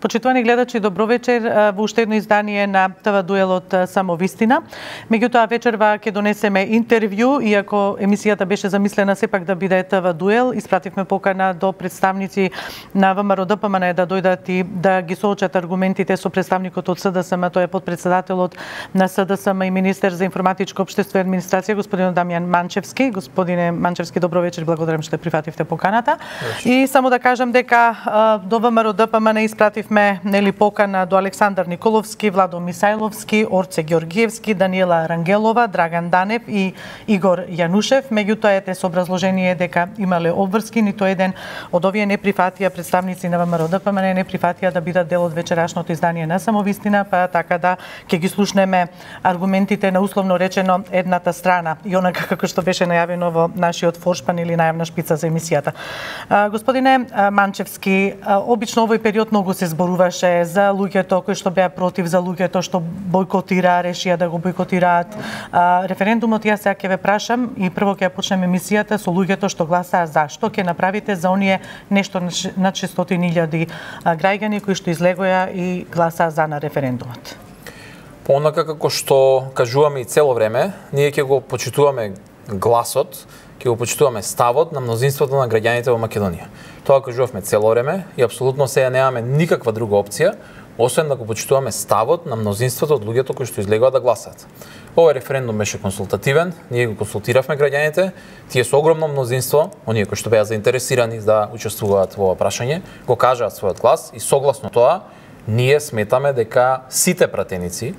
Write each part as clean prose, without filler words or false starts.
Почитувани гледачи, добро вечер во уште едно издание на ТВ Дуел од Самовистина. Меѓутоа вечерва ќе донесеме интервју, иако емисијата беше замислена сепак да биде ТВ Дуел, испративме покана до представници на ВМРО ДПМН да дојдат и да ги соочат аргументите со представникот од СДСМ, тој е подпредседателот на СДСМ и министер за информатичко општество и администрација, господин Дамјан Манчевски. Господине Манчевски, добро вечер, благодарам што прифативте поканата. И само да кажам дека до ВМРО ДПМН испративме покана до Александар Николовски, Владо Мисајловски, Орце Георгиевски, Даниела Рангелова, Драган Данев и Игор Јанушев. Меѓутоа ете со образложение дека имале обврски, ниту еден од овие не прифатија, представници на ВМРО ДПМН не прифатија да бидат дел од вечерашното издание на Самовистина, па така да ќе ги слушнеме аргументите на условно речено едната страна и онака како што беше најавено во нашиот форшпан или најавна шпица за емисијата. Господине Манчевски, обично овој период многу се зборуваше за луѓето кои што беа против, за луѓето што бойкотираа, решија да го бойкотираат референдумот. Јас сега ќе ве прашам и прво ќе почнеме емисијата со луѓето што гласаа за. Што ќе направите за оние нешто над 600.000 граѓани кои што излегоа и гласаа за на референдумот? По онака како што кажуваме и цело време, ние ќе го почитуваме гласот, ќе го почитуваме ставот на мнозинството на граѓаните во Македонија. Тоа кажувавме цело време и апсолутно сега немаме никаква друга опција, освен да го почитуваме ставот на мнозинството од луѓето кои што излегоа да гласаат. Овој референдум беше консултативен, ние го консултиравме граѓаните, тие со огромно мнозинство, оние кои што беа заинтересирани да учествуваат во ова прашање, го кажаат својот глас и согласно тоа, ние сметаме дека сите пратеници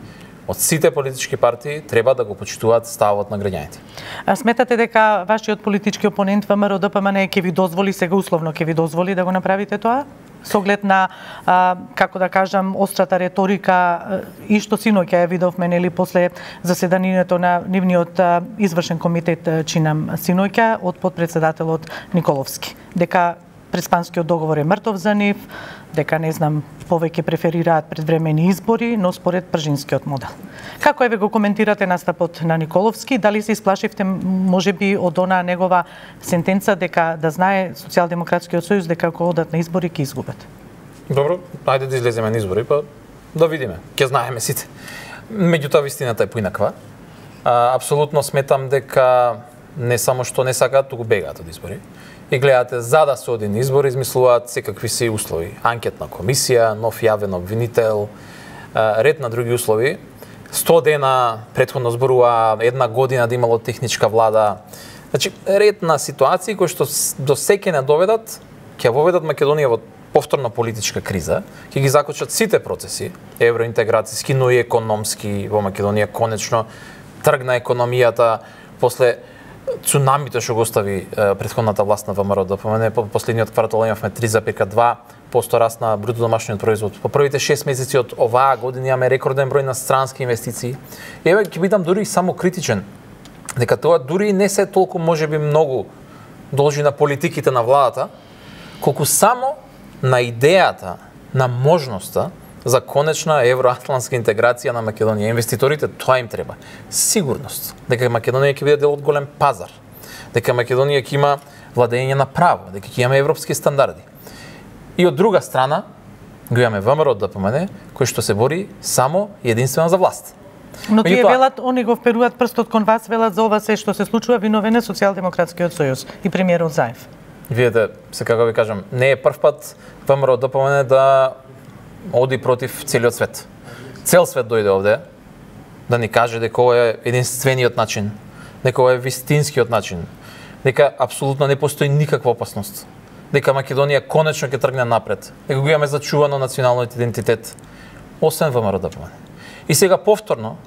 од сите политички партии треба да го почитуваат ставот на граѓаните. А сметате дека вашиот политички опонент ВМРО ДПМН ќе ви дозволи, сега условно ќе ви дозволи да го направите тоа? Со оглед на, како да кажам, острата реторика и што синоќа ја видовме нели после заседанието на нивниот извршен комитет чинам синоќа од подпредседателот Николовски, дека преспанскиот договор е мртов за нив, дека не знам, повеќе преферираат предвремени избори, но според пржинскиот модел. Како еве го коментирате настапот на Николовски? Дали се исплашивте можеби од она негова сентенца дека да знае Социјалдемократскиот сојуз дека ако одат на избори ќе изгубат? Добро, ајде да излеземе на избори, па да видиме. Ќе знаеме сите. Меѓутоа вистината е поинаква. Апсолутно сметам дека не само што не сакаат, туку бегаат од избори. И гледате, за да се оди на избори, измислуваат секакви се услови. Анкетна комисија, нов јавен обвинител, ред на други услови. 100 дена претходно зборува, една година да имало техничка влада. Значи, ред на ситуации кои што до секе не доведат, ќе воведат Македонија во повторна политичка криза, ќе ги закочат сите процеси, евроинтеграцијски, но и економски во Македонија. Конечно тргна економијата после цунамито што го остави претходната власт на ВМРО ДПМН. По последниот квартал имавме 3,2% раст на бруто домашниот производ. По првите 6 месеци од оваа година имаме рекорден број на странски инвестиции. И еве ќе бидам дури само критичен, дека тоа дури не се толку можеби многу должи на политиките на владата, колку само на идејата, на можноста за конечна евроатлантска интеграција на Македонија. Инвеститорите тоа им треба. Сигурност дека Македонија ќе биде дел од голем пазар, дека Македонија ќе има владење на право, дека ќе имаме европски стандарди. И од друга страна го имаме ВМРО ДПМН кој што се бори само и единствено за власт. Но тие велат, они го вперуваат прстот кон вас, велат за ова се што се случува виновен е Социјалдемократскиот сојуз и премиерот Заев. Видете, се како ви кажам, не е прв пат ВМРО ДПМН да оди против целиот свет. Цел свет дојде овде да ни каже дека ова е единствениот начин, дека ова е вистинскиот начин, дека апсолутно не постои никаква опасност, дека Македонија конечно ќе тргне напред, дека го имаме зачувано националниот идентитет, освен ВМРО ДПМН. И сега повторно,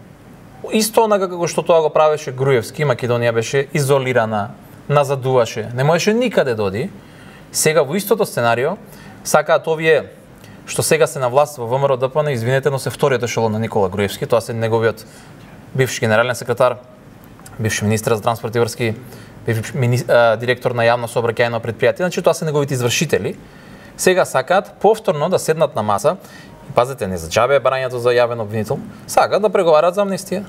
исто онака како што тоа го правеше Груевски, Македонија беше изолирана, назадуваше, не можеше никаде да оди. Сега во истото сценарио сакаат овие што сега се на власт во ВМРО ДПМН, извинете, но се вториот ешелон на Никола Груевски, тоа се неговиот бивш генерален секретар, бивш министер за транспорт и врски, бивш директор на јавно сообраќајно предпријатие, значи тоа се неговите извршители. Сега сакаат повторно да седнат на маса, и пазете, не за џабе барањето за јавен обвинител, сакаат да преговараат за амнестија.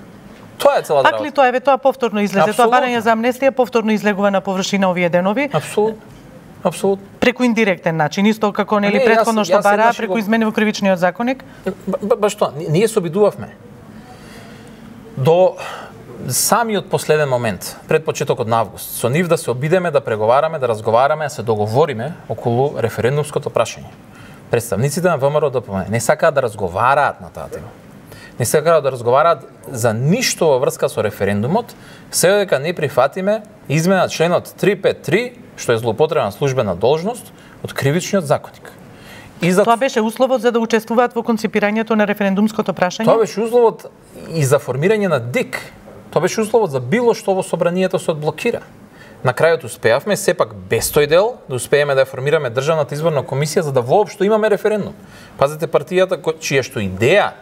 Тоа е целата работа. Пак ли тоа е, тоа повторно излезе, тоа барање за амнестија повторно излегува на површина овие денови? Апсолутно. преку индиректен начин, исто како нели претходно што бараа преку измени во кривичниот законник? Баш тоа, ние се обидувавме до самиот последен момент, пред почетокот на август, со нив да се обидеме да преговараме, да разговараме, да се договориме околу референдумското прашање. Представниците на ВМРО-ДПМНЕ не сакаат да разговараат на таа тема. Не сакаат да разговараат за ништо во врска со референдумот, се дека не прифатиме измена членот 353, што е злоупотреба на службена должност, од кривичниот законник. Тоа беше условот за да учествуваат во конципирањето на референдумското прашање? Тоа беше условот и за формирање на ДИК. Тоа беше условот за било што во собранието се одблокира. На крајот успеавме, сепак без тој дел, да успееме да формираме Државната изборна комисија за да воопшто имаме референдум. Пазете, партијата чија што идеја,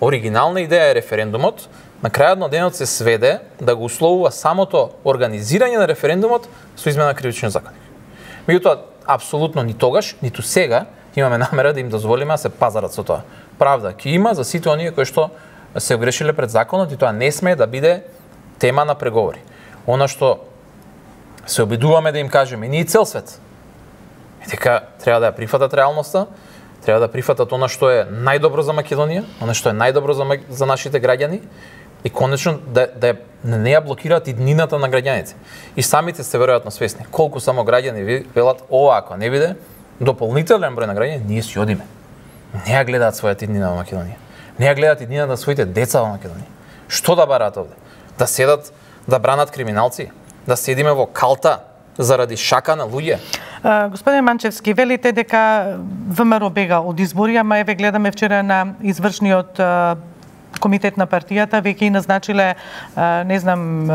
оригинална идеја е референдумот, на крајот на денот се сведе да го условува самото организирање на референдумот со измена на кривичниот законник. Меѓутоа, апсолутно ни тогаш, ниту сега имаме намера да им дозволиме да се пазарат со тоа. Правда ќе има за сите оние кои што се огрешиле пред законот и тоа не смее да биде тема на преговори. Она што се обидуваме да им кажеме, ние цел свет. Дека треба да ја прифатат реалноста, треба да прифатат она што е најдобро за Македонија, она што е најдобро за нашите граѓани и конечно да не ја блокираат иднината на граѓаните. И самите сте веројатно свесни колку само граѓани велат ова ако не биде дополнителен број на граѓани, ние си одиме. Не ја гледаат својата иднина во Македонија. Не ја гледаат иднина на своите деца во Македонија. Што да бараат овде? Да седат да бранат криминалци? Да седиме во калта заради шака на луѓе? Господин Манчевски, велите дека ВМРО бега од избори, ама еве гледаме вчера на извршниот комитет на партијата веќе и назначиле не знам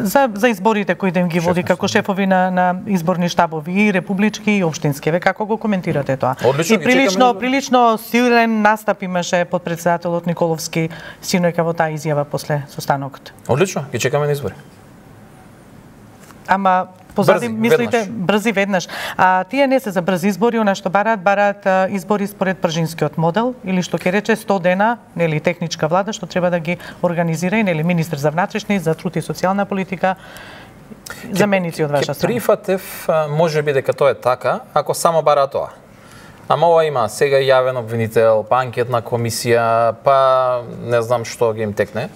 за изборите кои да им ги води како шефови на изборни штабови и републички и општински. Ве како го коментирате тоа? Одлично, и прилично силен настап имаше подпредседателот Николовски синојка во таа изјава после состанокот. Одлично, ги чекаме на избори. Ама позади мислите брзи веднаш. Тие не се за брзи избори, она што бараат избори според пржинскиот модел или што ќе рече 100 дена, нели техничка влада што треба да ги организира и нели министер за внатрешни, за труд и социјална политика, заменици од ваша страна. Прифатев можеби дека тоа е така, ако само бара тоа. Ама ова има сега јавен обвинител, па анкетна комисија, па не знам што ги им текне.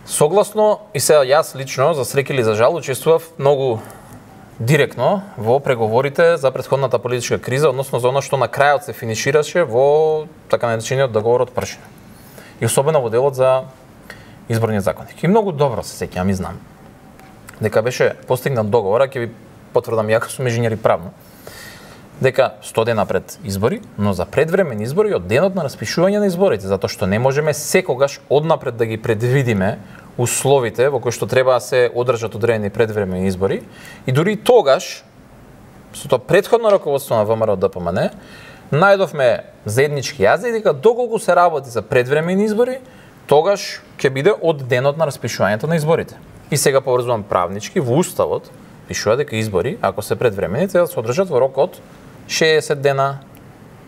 Согласно, и сега јас лично, за среќа или за жал, учествував многу директно во преговорите за претходната политичка криза, односно за оно што на крајот се финишираше во така наречениот договор од Пршина. И особено во делот за изборниот законник. И многу добро се сеќавам и знам дека беше постигнат договор, ќе ви потврдам јако сум инженер и правно, дека 100 дена пред избори, но за предвремени избори од денот на распишување на изборите, затоа што не можеме секогаш однапред да ги предвидиме условите во кои што треба да се одржат одредени предвремени избори и дури тогаш со тоа претходно раководство на ВМРО-ДПМНЕ најдовме заеднички јазик дека доколку се работи за предвремени избори, тогаш ќе биде од денот на распишувањето на изборите. И сега поврзувам правнички во уставот пишува дека избори, ако се предвремени, треба да се одржат во рок од 60 дена.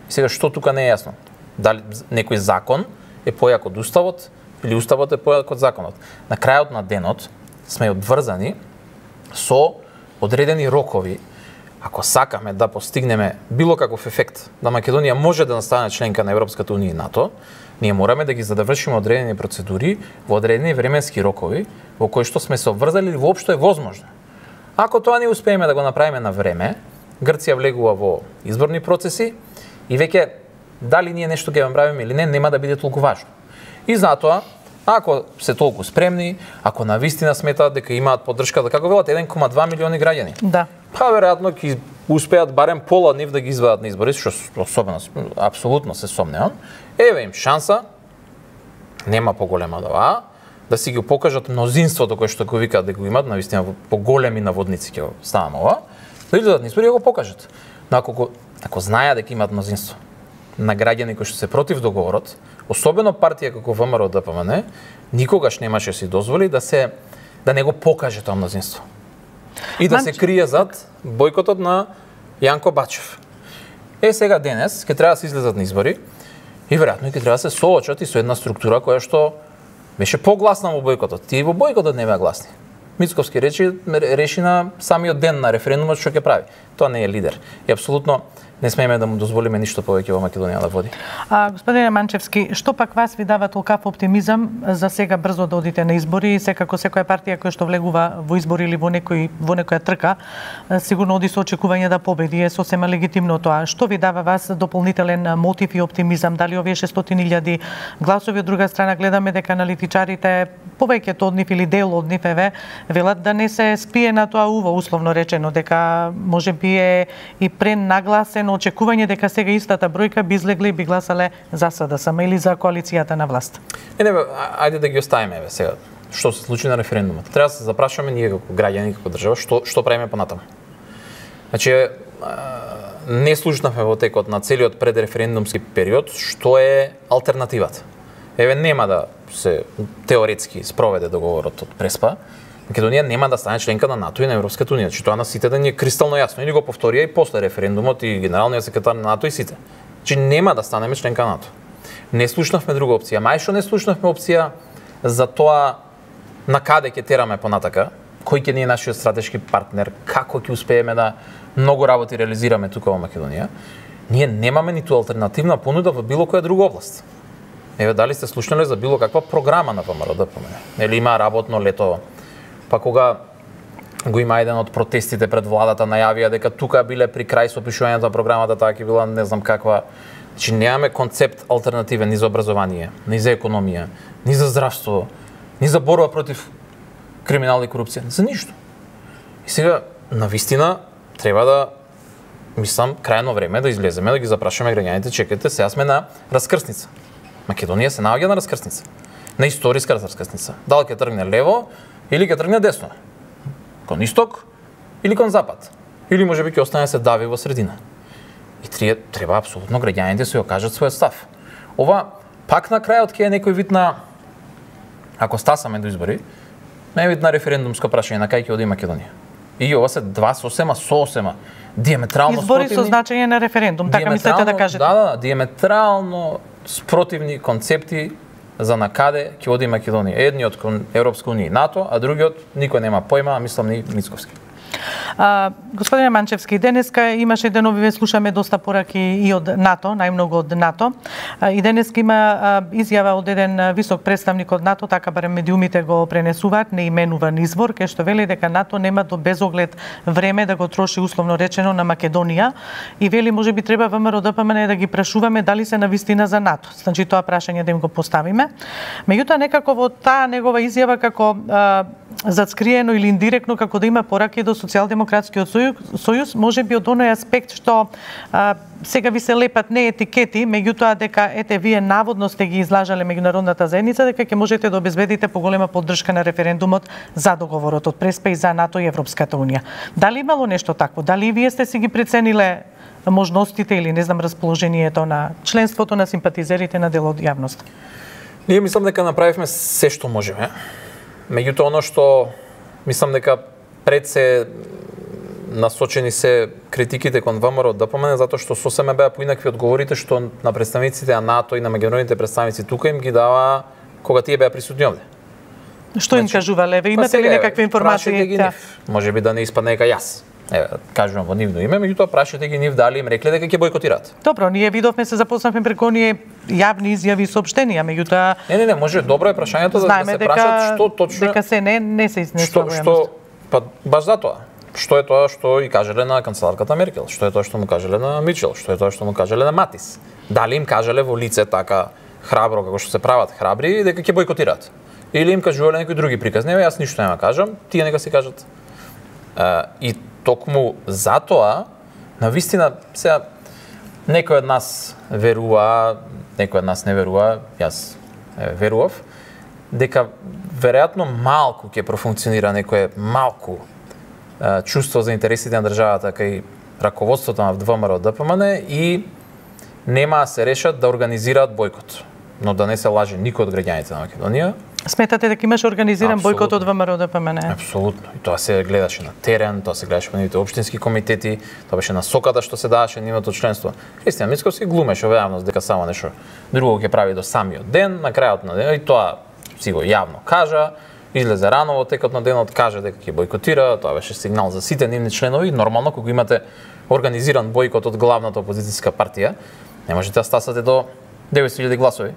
И сега што тука не е јасно? Дали некој закон е појак од уставот или уставот е појак од законот? На крајот на денот сме одврзани со одредени рокови. Ако сакаме да постигнеме било каков ефект, да Македонија може да стане членка на Европската унија и НАТО, ние мораме да ги задавршиме одредени процедури во одредени временски рокови во кои што сме се обврзали или воопшто е возможно. Ако тоа не успееме да го направиме на време, Грција влегува во изборни процеси и веќе дали ние нешто ќе направиме или не, нема да биде толку важно. И затоа, ако се толку спремни, ако навистина сметаат дека имаат поддршка, да како велат 1,2 милиони граѓани. Да. Па веројатно ќе успеат барем пола нив да ги извадат на избори, што особено апсолутно се сомневам. Еве им шанса, нема поголема од ова, да си ги покажат мнозинството кое што го викаат дека го имаат, навистина по големи наводници ќе ставам ова, да идат на избори и го покажат. Но ако знаеа дека имаат мнозинство на граѓани кои што се против договорот, особено партија како ВМРО-ДПМНЕ, никогаш немаше си дозволи да не го покаже тоа мнозинство. И да се крие зад бојкотот на Јанко Бачев. Сега денес ќе треба да се излезат на избори и веројатно ќе треба да се соочат и со една структура која што беше погласна во бојкотот. Тие во бојкотот не беа гласни. Мицковски реши на самиот ден на референдумот што ќе прави. Тоа не е лидер. И апсолутно не смееме да му дозволиме ништо повеќе во Македонија да води. Господине Манчевски, што пак вас ви дава толкав оптимизам за сега брзо да одите на избори и секако секоја партија која што влегува во избори или во некоја трка, сигурно оди со очекување да победи, е сосема легитимно тоа. Што ви дава вас дополнителен мотив и оптимизам? Дали овие 600.000 гласови, од друга страна гледаме дека аналитичарите, повеќето од нив или дел од нив велат да не се спие на тоа уво, условно речено, дека можеби е и пренагласено очекување дека сега истата бројка би излегле и би гласале за СДСМ или за коалицијата на власт. Ајде да ги оставиме сега. Што се случи на референдумот? Треба да се запрашаме ние како граѓани, како држава, што правиме понатаму. Значи, не слушнавме во текот на целиот предреферендумски период што е алтернативата. Нема да се теоретски спроведе договорот од Преспа. Македонија нема да стане членка на НАТО и на Европската унија. Значи тоа на сите да ни е кристално јасно. Или го повторија и после референдумот и генералниот секретар на НАТО и сите. Значи нема да станеме членка на НАТО. Не слушнавме друга опција. Мај што не слушнавме опција за тоа на каде ќе тераме понатака, кој ќе ни е нашиот стратешки партнер, како ќе успееме да многу работи реализираме тука во Македонија. Ние немаме ниту алтернативна понуда во било која друга област. Дали сте слушнале за било каква програма на ВМРО-ДПМН? Или има работно лето? Па кога го има еден од протестите пред владата, најавија дека тука биле при крај со опишувањето на програмата, таа ќе била не знам каква. Значи немаме концепт алтернативен ни за образование, ни за економија, ни за здравство, ни за борба против криминал и корупција, за ништо. И сега навистина треба да мислам крајно време да излеземе да ги запрашаме граѓаните, чекайте, сега сме на раскрсница. Македонија се наоѓа на раскрсница. На историска раскрсница. Дали ќе тргне лево или ќе тргне десно? Кон исток или кон запад? Или можеби ќе остане се дави во средина? И треба апсолутно граѓаните се окажат својот став. Ова пак на крајот ќе е некој вид на, ако стасаме до избори, некој вид на референдумско прашање на кај ќе оди Македонија. И ова се два сосема диаметрално избори со значење на референдум, така мислите да кажете? Да, диаметрално спротивни концепти за накаде ќе оди Македонија. Едниот кон Европска унија и НАТО, а другиот никој нема појма, а мислам ни Мицковски. Господине Манчевски, денеска имаше денови, слушаме доста пораки и од НАТО, најмногу од НАТО. И денеска има изјава од еден висок представник од НАТО, така барем медиумите го пренесуваат, неименуван извор, кај што вели дека НАТО нема до безоглед време да го троши условно речено на Македонија и вели можеби треба ВМРО-ДПМН да ги прашуваме дали се навистина за НАТО. Значи тоа прашање да им го поставиме. Меѓутоа некако во таа негова изјава како зацкриено или индиректно како да има пораки до Социјалдемократскиот сојуз, можеби од оној аспект што сега ви се лепат не етикети, меѓутоа дека ете вие наводно сте ги излажале меѓународната заедница дека ќе можете да обезбедите поголема поддршка на референдумот за договорот од Преспа и за НАТО и Европската унија. Дали имало нешто такво? Дали вие сте си ги прецениле можностите или не знам расположението на членството на симпатизерите на дел од јавност? Ние мислам дека направивме се што можеме. Меѓутоа, оно што мислам дека пред се насочени се критиките кон ВМРО-ДПМН затоа што сосема беа поинакви одговорите што на представниците на НАТО и на меѓународните представници тука им ги дава кога тие беа присутни овде. Што им кажувале? Ве имате ли некакви информации? Можеби да не испадне дека јас кажувам во нивно име, меѓутоа прашате ги нив дали им рекле дека ќе бојкотираат. Добро, ние видовме се запознавме преку оние јавни изјави и соопштенија, меѓутоа Не, може добро е прашањето да се прашат што точно дека се не се изнесува. Што па баш затоа. Што е тоа што и кажале на канцеларката Меркел, што е тоа што му кажале на Мичел, што е тоа што му кажале на Матис. Дали им кажале во лице така храбро како што се прават храбри дека ќе бојкотираат. Или им кажувале некои други приказни, јас ништо нема кажам, тие нека си кажат. И токму затоа, навистина, сега, некој од нас верува, некој од нас не верува, јас верував, дека веројатно малку ќе профункционира некое малку чувство за интересите на државата кај раководството на ВМРО-ДПМН и нема да се решат да организираат бојкот. Но да не се лаже никој од граѓаните на Македонија. Сметате дека имаше организиран бојкот од ВМРО-ДПМН? Апсолутно. И тоа се гледаше на терен, тоа се гледаше во нивните општински комитети, тоа беше насоката што се даваше нивното членство. Христијан Мицковски глумеше во јавност дека само нешто друго ќе прави до самиот ден, на крајот на ден, и тоа си го јавно кажа, излезе рано во текот на денот, каже дека ќе бойкотира, тоа беше сигнал за сите нивни членови. Нормално, кога имате организиран бойкот од главната опозицијска партија, не можете да стасате до 900.000 гласови.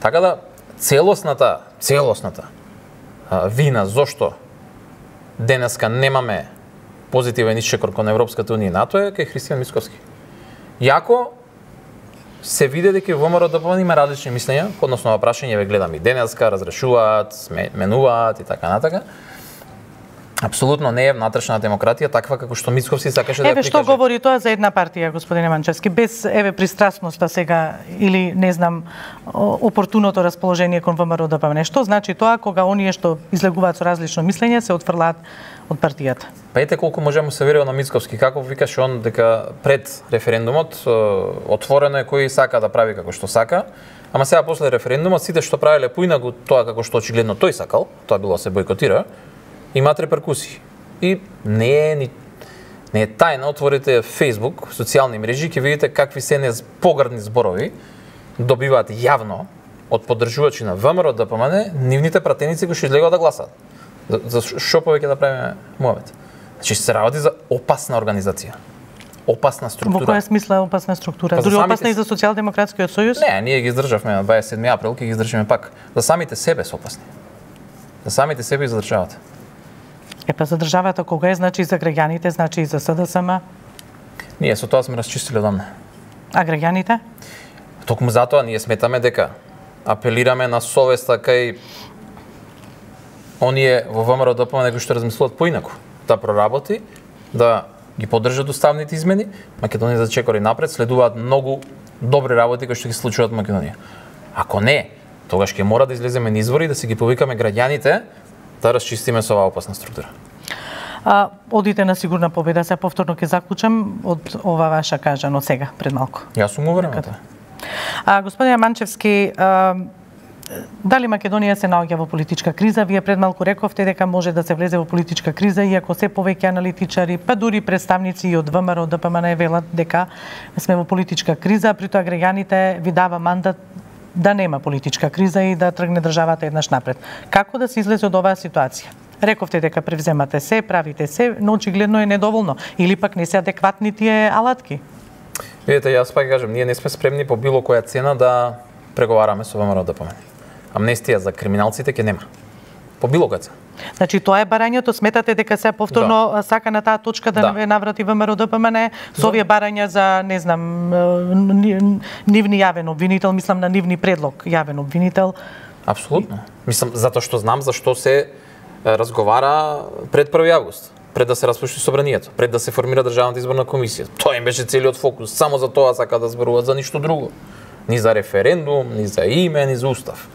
Така да целосната вина зошто денеска немаме позитивен исчекор кон Европската унија и НАТО е кај Христијан Мицковски. Јако се види дека ВМРО-ДПМН има различни мислења, односно на прашање ве гледам и денеска, разрешуваат, менуваат и така натака. Апсолутно не е внатрешна демократија таква како што Мицковски сакаше да ја прикаже. Што говори тоа за една партија, господине Манчевски, без пристрасноста сега или не знам опортуното расположение кон ВМРО-ДПМН. Што значи тоа кога оние што излегуваат со различно мислење се отфрлаат од партијата? Па ете колку можеме се верува на Мицковски, како викаше он дека пред референдумот отворено е кој сака да прави како што сака, ама сега после референдумот сите што правеле поинакво тоа како што очигледно тој сакал, тоа било да се бойкотира, имаат реперкусии. И не е тајна, отворите Facebook, социјални мрежи, ќе видите какви се погрдни зборови добиваат јавно од поддржувачи на ВМРО-ДПМН нивните пратеници кои што излегуваат да гласаат. За што повеќе да правиме муавет? Значи се работи за опасна организација. Опасна структура. Во која смисла опасна структура? Дури опасна и за Социјалдемократскиот сојуз? Не, ние ги издржавме на 27 април, ќе ги издржиме пак. За самите себе се опасни. За самите себе издржавате. Па за државата кога е, значи и за граѓаните, значи и за СДСМ? Ние со тоа сме расчистили одамна. А граѓаните? Токму затоа ние сметаме дека апелираме на совеста кај оние во ВМРО-ДПМН кои што размислуваат поинаку, да проработи, да ги поддржат уставните измени, Македонија да чекори напред, следуваат многу добри работи кои што ги случуваат во Македонија. Ако не, тогаш ќе мора да излеземе на избори и да се ги повикаме граѓаните да расчистиме со оваа опасна структура. Одите на сигурна победа, се повторно ќе заклучам од ова ваша кажано сега пред малку. Јас сум уверен во тоа. Господине Манчевски, дали Македонија се наоѓа во политичка криза? Вие пред малку рековте дека може да се влезе во политичка криза, иако се повеќе аналитичари, па дури представници и од ВМРО-ДПМН велат дека сме во политичка криза, при тоа граѓаните ви дава мандат да нема политичка криза и да тргне државата еднаш напред. Како да се излезе од оваа ситуација? Рековте дека превземате се, правите се, но очигледно е недоволно или пак не се адекватни тие алатки? Видете, јас пак кажам, ние не сме спремни по било која цена да преговараме со ВМРО-ДПМН. Амнестија за криминалците ќе нема. По било која цена. Значи тоа е барањето, сметате дека се повторно сака на таа точка да наврати ВМРО-ДПМН со овие барања за, не знам, нивни јавен обвинител, мислам на нивни предлог јавен обвинител. Апсолутно. Мислам затоа што знам зашто се разговара пред 1 август, пред да се распушти собранието, пред да се формира државната изборна комисија. Тоа им беше целиот фокус, само за тоа сака да зборуваат, за ништо друго. Ни за референдум, ни за име, ни за устав.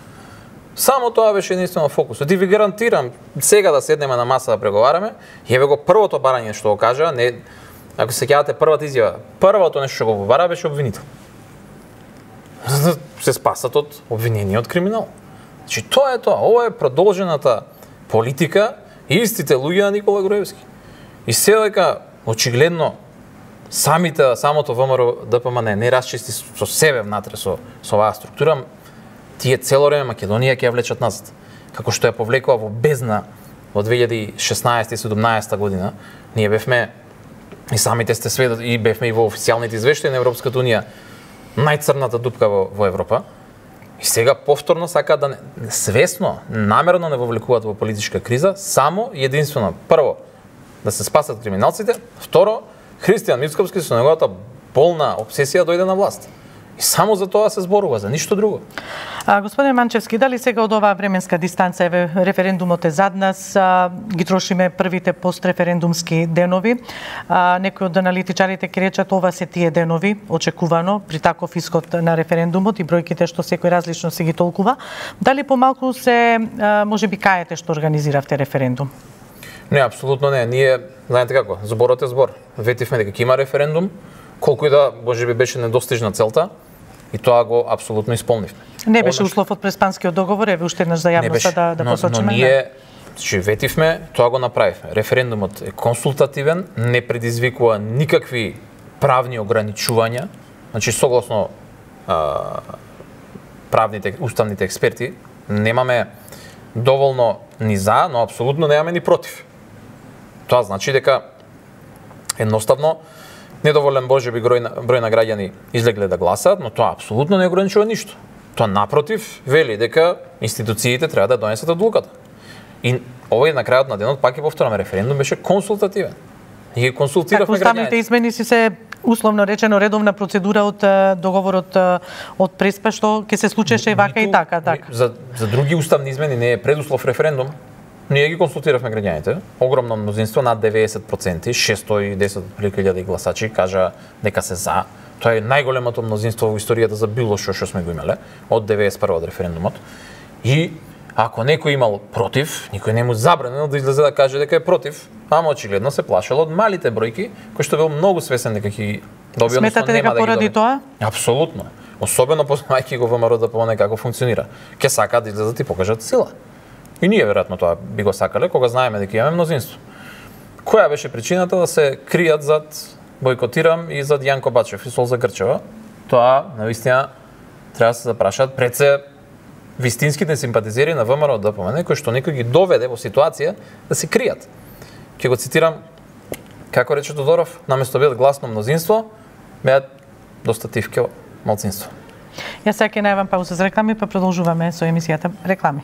Само тоа беше единствено фокусот. И ви гарантирам, сега да седнеме на маса да преговараме, еве го првото барање што го кажа, не, ако се сеќавате првата изјава, првото нешто што го побара беше обвинител. За да се спасат од обвинение од криминал. Значи тоа е тоа, ова е продолжената политика и истите луѓе на Никола Груевски. И се дека очигледно самото ВМРО-ДПМН не расчисти со себе внатре со оваа структура, тие цело време Македонија ќе ја влечат назад. Како што ја повлекува во бездна во 2016-17 година, ние бевме и самите сте сведоци и бевме и во официјалните извештаи на Европската унија најцрната дупка во Европа. И сега повторно сака да свесно, намерно не вовлекуваат во политичка криза, само и единствено прво да се спасат криминалците, второ Христијан Мицковски со неговата болна обсесија дојде на власт. И само за тоа се зборува, за ништо друго. Господин Манчевски, дали сега од оваа временска дистанца, еве референдумот е зад нас, ги трошиме првите постреферендумски денови. Некои од аналитичарите ќе речат ова се тие денови, очекувано при таков исход на референдумот и бројките што секој различно се ги толкува. Дали помалку се можеби каете што организиравте референдум? Не, апсолутно не. Ние, знаете како, зборот е збор. Ветивме дека ќе има референдум, колку и да можеби беше недостижна целта, и тоа го апсолутно исполнивме. Не беше услов од Преспанскиот договор, еве уште еднаш за јавноста да посочиме. Но ние ветивме, тоа го направивме. Референдумот е консултативен, не предизвикува никакви правни ограничувања, значи согласно уставните експерти, немаме доволно ни за, но апсолутно немаме ни против. Тоа значи дека едноставно недоволен можеби број на граѓани излегле да гласаат, но тоа апсолутно не ограничува ништо. Тоа напротив вели дека институциите треба да донесат одлуката. И овој на крајот на денот, пак ќе повторам, референдум беше консултативен. И ги консултиравме граѓаните. Уставните измени си се условно речено редовна процедура од договорот од Преспа, што ќе се случеше и вака и така. За други уставни измени не е предуслов референдум. Ние ги консултиравме граѓаните. Огромно мнозинство, над 90%, 610.000 гласачи кажа дека се за. Тоа е најголемото мнозинство во историјата за било што сме го имале од 91 од референдумот. И ако некој имал против, никој не му забранено да излезе да каже дека е против, ама очигледно се плашел од малите бројки, кои што бил многу свесен дека ќе доби, сметате дека поради тоа? Апсолутно. Особено познајќи го ВМРО ДПМНЕ како функционира. Ке сакаат да излезат и покажат сила. И ние веројатно тоа би го сакале кога знаеме дека имаме мнозинство. Која беше причината да се кријат зад бойкотирам и зад Јанко Бачев и Солза Грчева? Тоа навистина треба да се запрашаат пред се вистинските симпатизери на ВМРО ДПМНЕ, кои што некој ги доведе во ситуација да се кријат. Ќе го цитирам како рече Тодоров, наместо бидат гласно мнозинство, беат доста тивке малцинство. Јас сега ќе најавам пауза за реклами, па продолжуваме со емисијата Реклами.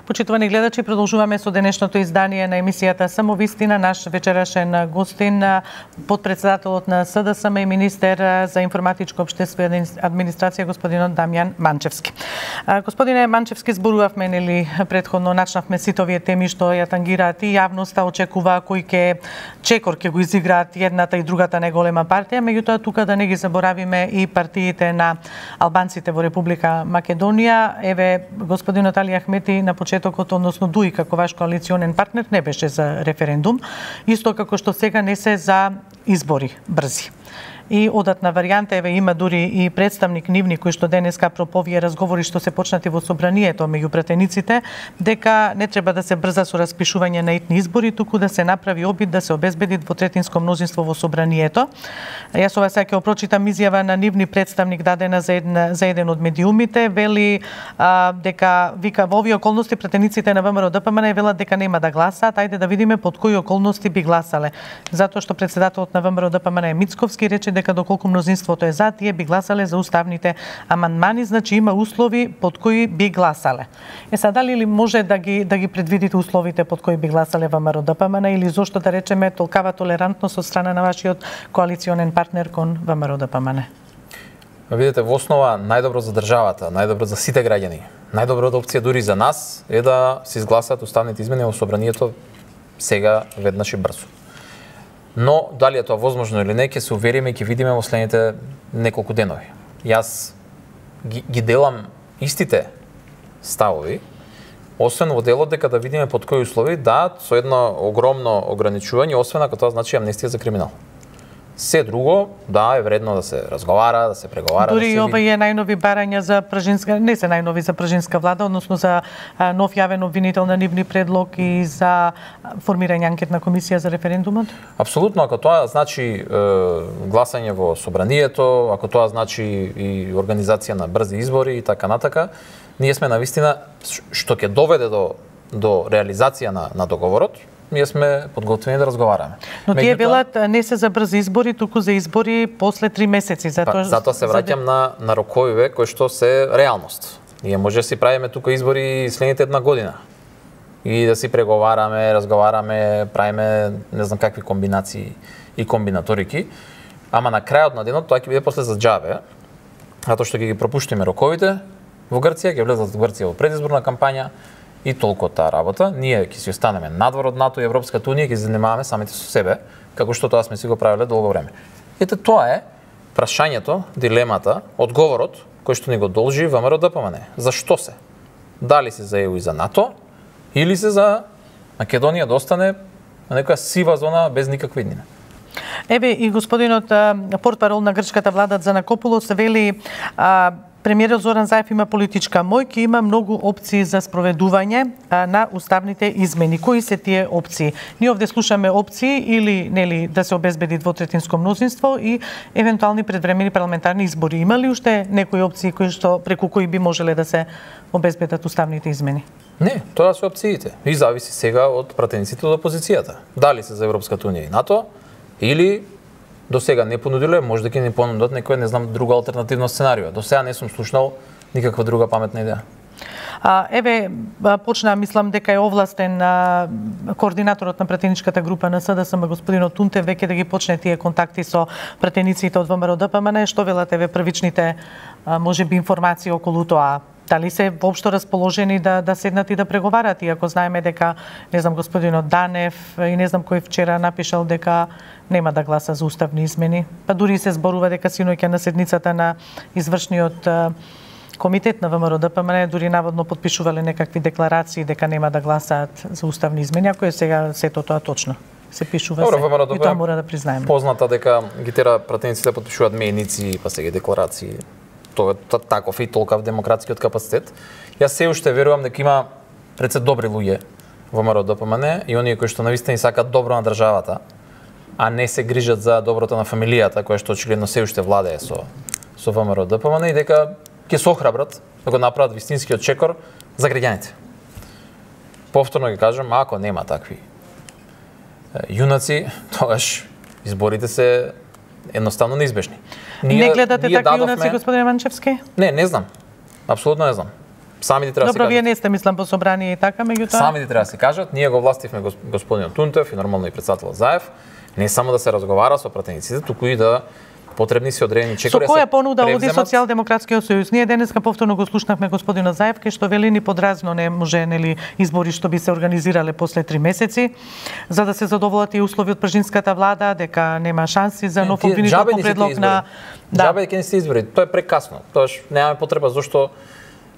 Почитувани гледачи, продолжуваме со денешното издание на емисијата Самовистина. Наш вечерашен гостин, подпредседателот на СДСМ и министер за информатичко општество и администрација, господинот Дамјан Манчевски. Господине Манчевски, зборувавме нели претходно, начнавме сите овие теми што ја тангираат и јавноста очекува кој чекор ќе го изиграат едната и другата најголема партија, меѓутоа тука да не ги заборавиме и партиите на албанците во Република Македонија. Еве, господинот Али Ахмети на почетокот, односно ДУИ како ваш коалиционен партнер, не беше за референдум, исто како што сега не се за избори брзи. И одатна варијанта, еве има дури и представник нивни кој што денеска проповија разговори што се почнати во собранието меѓу пратениците, дека не треба да се брза со распишување на итни избори, туку да се направи обид да се обезбеди двотретинско мнозинство во собранието. Јас ова сега ќе прочитам изјава на нивни представник дадена за еден од медиумите, вели дека вика во овие околности пратениците на ВМРО ДПМНЕ велат дека нема да гласаат, ајде да видиме под кои околности би гласале. Затоа што председателот на ВМРО ДПМНЕ Мицковски рече дека доколку мнозинството е за, тие би гласале за уставните амандмани, значи има услови под кои би гласале. Дали ли може да ги предвидите условите под кои би гласале ВМРО ДПМНЕ или зошто да речеме толкава толерантност од страна на вашиот коалиционен партнер кон ВМРО ДПМНЕ? Видите, во основа најдобро за државата, најдобро за сите граѓани, најдобрата опција дури за нас е да се изгласаат уставните измени во собранието сега веднаш и брзо. Но дали е тоа возможно или не, ќе се увериме и ќе видиме во следните неколку денови. Јас ги делам истите ставови, освен во делот дека да видиме под кои услови, да, со едно огромно ограничување, освен ако тоа значи амнестија за криминал. Се друго, да, е вредно да се разговара, да се преговара. Дури и ова е најнови барања за пражинска, не се најнови за пражинска влада, односно за нов јавен обвинител на нивни предлог и за формирање анкетна комисија за референдумот? Апсолутно, ако тоа значи гласање во собранието, ако тоа значи и организација на брзи избори и така натака, ние сме навистина што ќе доведе до реализација на договорот. Ние сме подготвени да разговараме. Но тие велат не се за брзи избори, туку за избори после 3 месеци. Затоа се враќам на роковиве кои што се реалност. Ние може да си правиме тука избори следните една година. И да си преговараме, разговараме, правиме не знам какви комбинации и комбинаторики. Ама на крајот на денот тоа ќе биде после за џабе, затоа што ќе ги пропуштиме роковите во Грција, ќе влезат во Грција во предизборна кампања. И толку таа работа, ние ќе си останеме надвор од НАТО и Европската унија, ќе се занимаваме самите со себе, како што тоа сме си го правеле долго време. Ете тоа е прашањето, дилемата, одговорот кој што ни го должи ВМРО ДПМНЕ. Зашто се? Дали се за ЕУ и за НАТО, или се за Македонија да остане на некоја сива зона без никаква иднина? Еве и господинот портпарол на грчката влада Занакопулос вели Премиерот Зоран Заев има политичка моќ и има многу опции за спроведување на уставните измени. Кои се тие опции? Ние овде слушаме опции или нели да се обезбеди двотретинско мнозинство и евентуални предвремени парламентарни избори. Има ли уште некои опции преку кои би можеле да се обезбедат уставните измени? Не, тоа се опциите. И зависи сега од пратениците од опозицијата. Дали се за Европската унија и НАТО или до сега не понудиле, може да ќе ни понудат некој, не знам, друго алтернативно сценарио. До сега не сум слушнал никаква друга паметна идеја. Еве, почна, мислам дека е овластен координаторот на пратеничката група на СДСМ, господинот Тунтев, веќе да ги почне тие контакти со пратениците од ВМРО-ДПМН. Што велат еве првичните, можеби, информации околу тоа? Дали се воопшто расположени да седнат и да преговарат, иако знаеме дека, не знам, господинот Данев и не знам кој вчера напишал дека нема да гласа за уставни измени. Па дури се зборува дека синоќа на седницата на извршниот комитет на ВМРО-ДПМН дури наводно потпишувале некакви декларации дека нема да гласаат за уставни измени, ако е сега сето тоа точно. Се пишува се. И тоа мора да признаеме. Позната дека ги тера пратениците да потпишуваат мејници, па сега декларации. Тоа е таков и толкав демократскиот капацитет. Јас се уште верувам дека има пред се добри луѓе во ВМРО-ДПМН и оние кои што навистина сакаат добро на државата, а не се грижат за доброто на фамилијата, која што очигледно се уште владее со ВМРО-ДПМН и дека ќе се охрабрат да го направат вистинскиот чекор за граѓаните. Повторно ги кажам, ако нема такви јунаци, тогаш изборите се едноставно неизбежни. Не гледате такви јунаци, господине Манчевски? Не знам. Апсолутно не знам. Самите треба да се кажат. Добро, вие не сте, мислам, по собрание и така, меѓутоа. Самите треба да се кажат. Ние го властивме господинот Тунтев и нормално и председателот Заев, не само да се разговара со пратениците, туку и да потребни се одредени чекори. Со која понуда оди Социјалдемократскиот сојуз? Ние денеска повторно го слушнавме господина Заев, кај што вели ни подразно не може нели избори што би се организирале после 3 месеци, за да се задоволат и услови од пржинската влада, дека нема шанси за нов обвинител по предлог на Џабе ќе не се избори. Тоа е прекасно. Тоаш немаме потреба зашто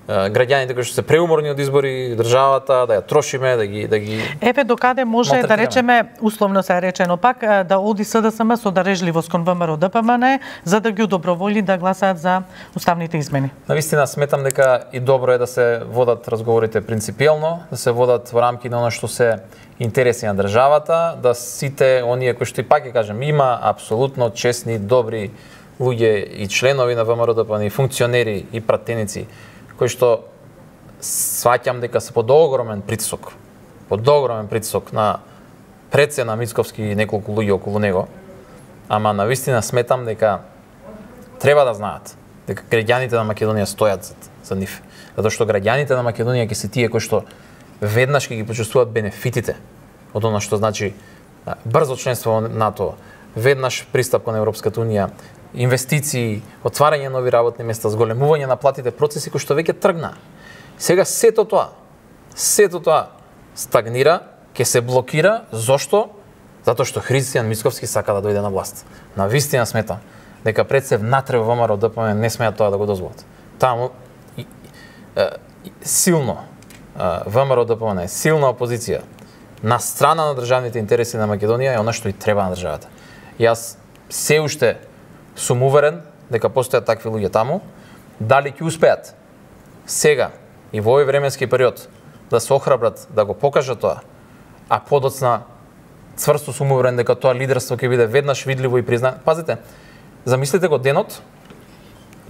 граѓаните кои што се преуморни од избори, државата, да ја трошиме, да ги Еве докаде може да речеме, условно се речено пак, да оди СДСМ со дарежливост кон ВМРО-ДПМН за да ги удоброволи да гласаат за уставните измени. Навистина сметам дека и добро е да се водат разговорите принципиелно, да се водат во рамки на она што се интереси на државата, да сите оние кои што и пак ќе кажем, има апсолутно честни, добри луѓе и членови на ВМРО-ДПМН, и функционери и пратеници кои што сваќам дека се под огромен притисок на прецена Мицковски и неколку луѓе околу него, ама навистина сметам дека треба да знаат дека граѓаните на Македонија стојат за нив, затоа што граѓаните на Македонија ќе се тие кои што веднаш ќе ги почувствуваат бенефитите од она што значи брзо членство во НАТО, веднаш пристап кон Европската унија, инвестиции, отварање нови работни места, зголемување на платите, процеси кои што веќе тргна. Сега сето тоа стагнира, ќе се блокира. Зошто? Затоа што Христијан Мицковски сака да дојде на власт. Навистина сметам дека пред се внатре во ВМРО-ДПМН не смеат тоа да го дозволат. Таму силно ВМРО-ДПМН е силна опозиција на страна на државните интереси на Македонија е она што и треба на државата. Јас се уште сум уверен дека постојат такви луѓе таму, дали ќе успеат сега и во овој временски период да се охрабрат да го покажат тоа, а подоцна цврсто сум уверен дека тоа лидерство ќе биде веднаш видливо и признато. Пазите, замислете го денот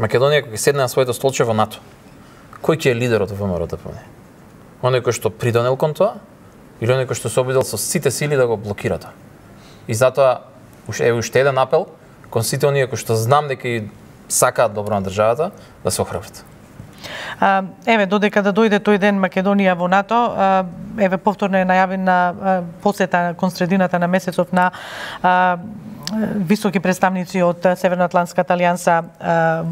Македонија кога ќе седне на своето столче во НАТО. Кој ќе е лидерот во ВМРО-ДПМН? Оној кој што придонел кон тоа или оној кој што се обидел со сите сили да го блокира тоа? И затоа уште еден апел кон сите оние кои што знам дека и сакаат добро на државата, да се охрабрат. Еве, додека да дојде тој ден Македонија во НАТО, еве повторно е најавена посета кон средината на месецов на високи представници од Северноатлантската алијанса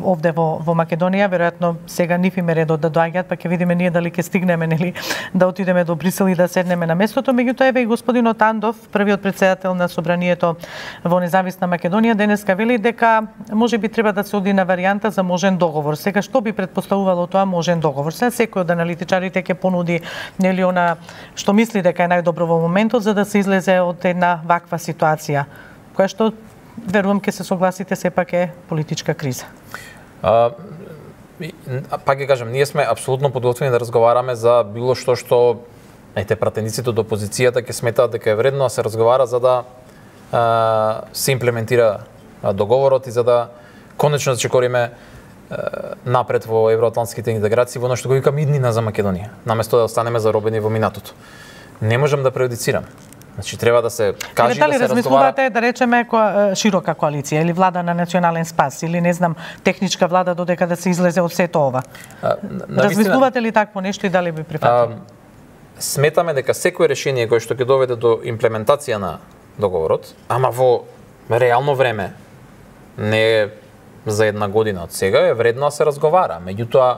овде во Македонија. Веројатно сега нив им е редот да доаѓаат, па ќе видиме ние дали ќе стигнеме нели да отидеме до Брисел и да седнеме на местото. Меѓутоа еве и господинот Андов, првиот претседател на собранието во Независна Македонија, денеска вели дека можеби треба да се оди на варијанта за можен договор. Сега што би претпоставувало тоа можен договор? Сега секој од аналитичарите ќе понуди нели она што мисли дека е најдобро во моментот за да се излезе од една ваква ситуација, која што, верувам, ќе се согласите, сепак е политичка криза. пак ќе кажам, ние сме апсолутно подготвени да разговараме за било што пратениците од опозицијата ќе сметаат дека е вредно да се разговара за да се имплементира договорот и за да конечно да чекориме напред во евроатлантските интеграции, во нешто го викам иднина за Македонија, наместо да останеме заробени во минатото. Не можам да преюдицирам. Значи треба да се каже да се разговара. Размислувате да речеме широка коалиција или влада на национален спас или не знам техничка влада додека да се излезе од сето ова? Размислувате ли такво нешто и дали би прифатили? Сметаме дека секое решение кое што ќе доведе до имплементација на договорот, ама во реално време, не за една година од сега, е вредно да се разговара. Меѓутоа,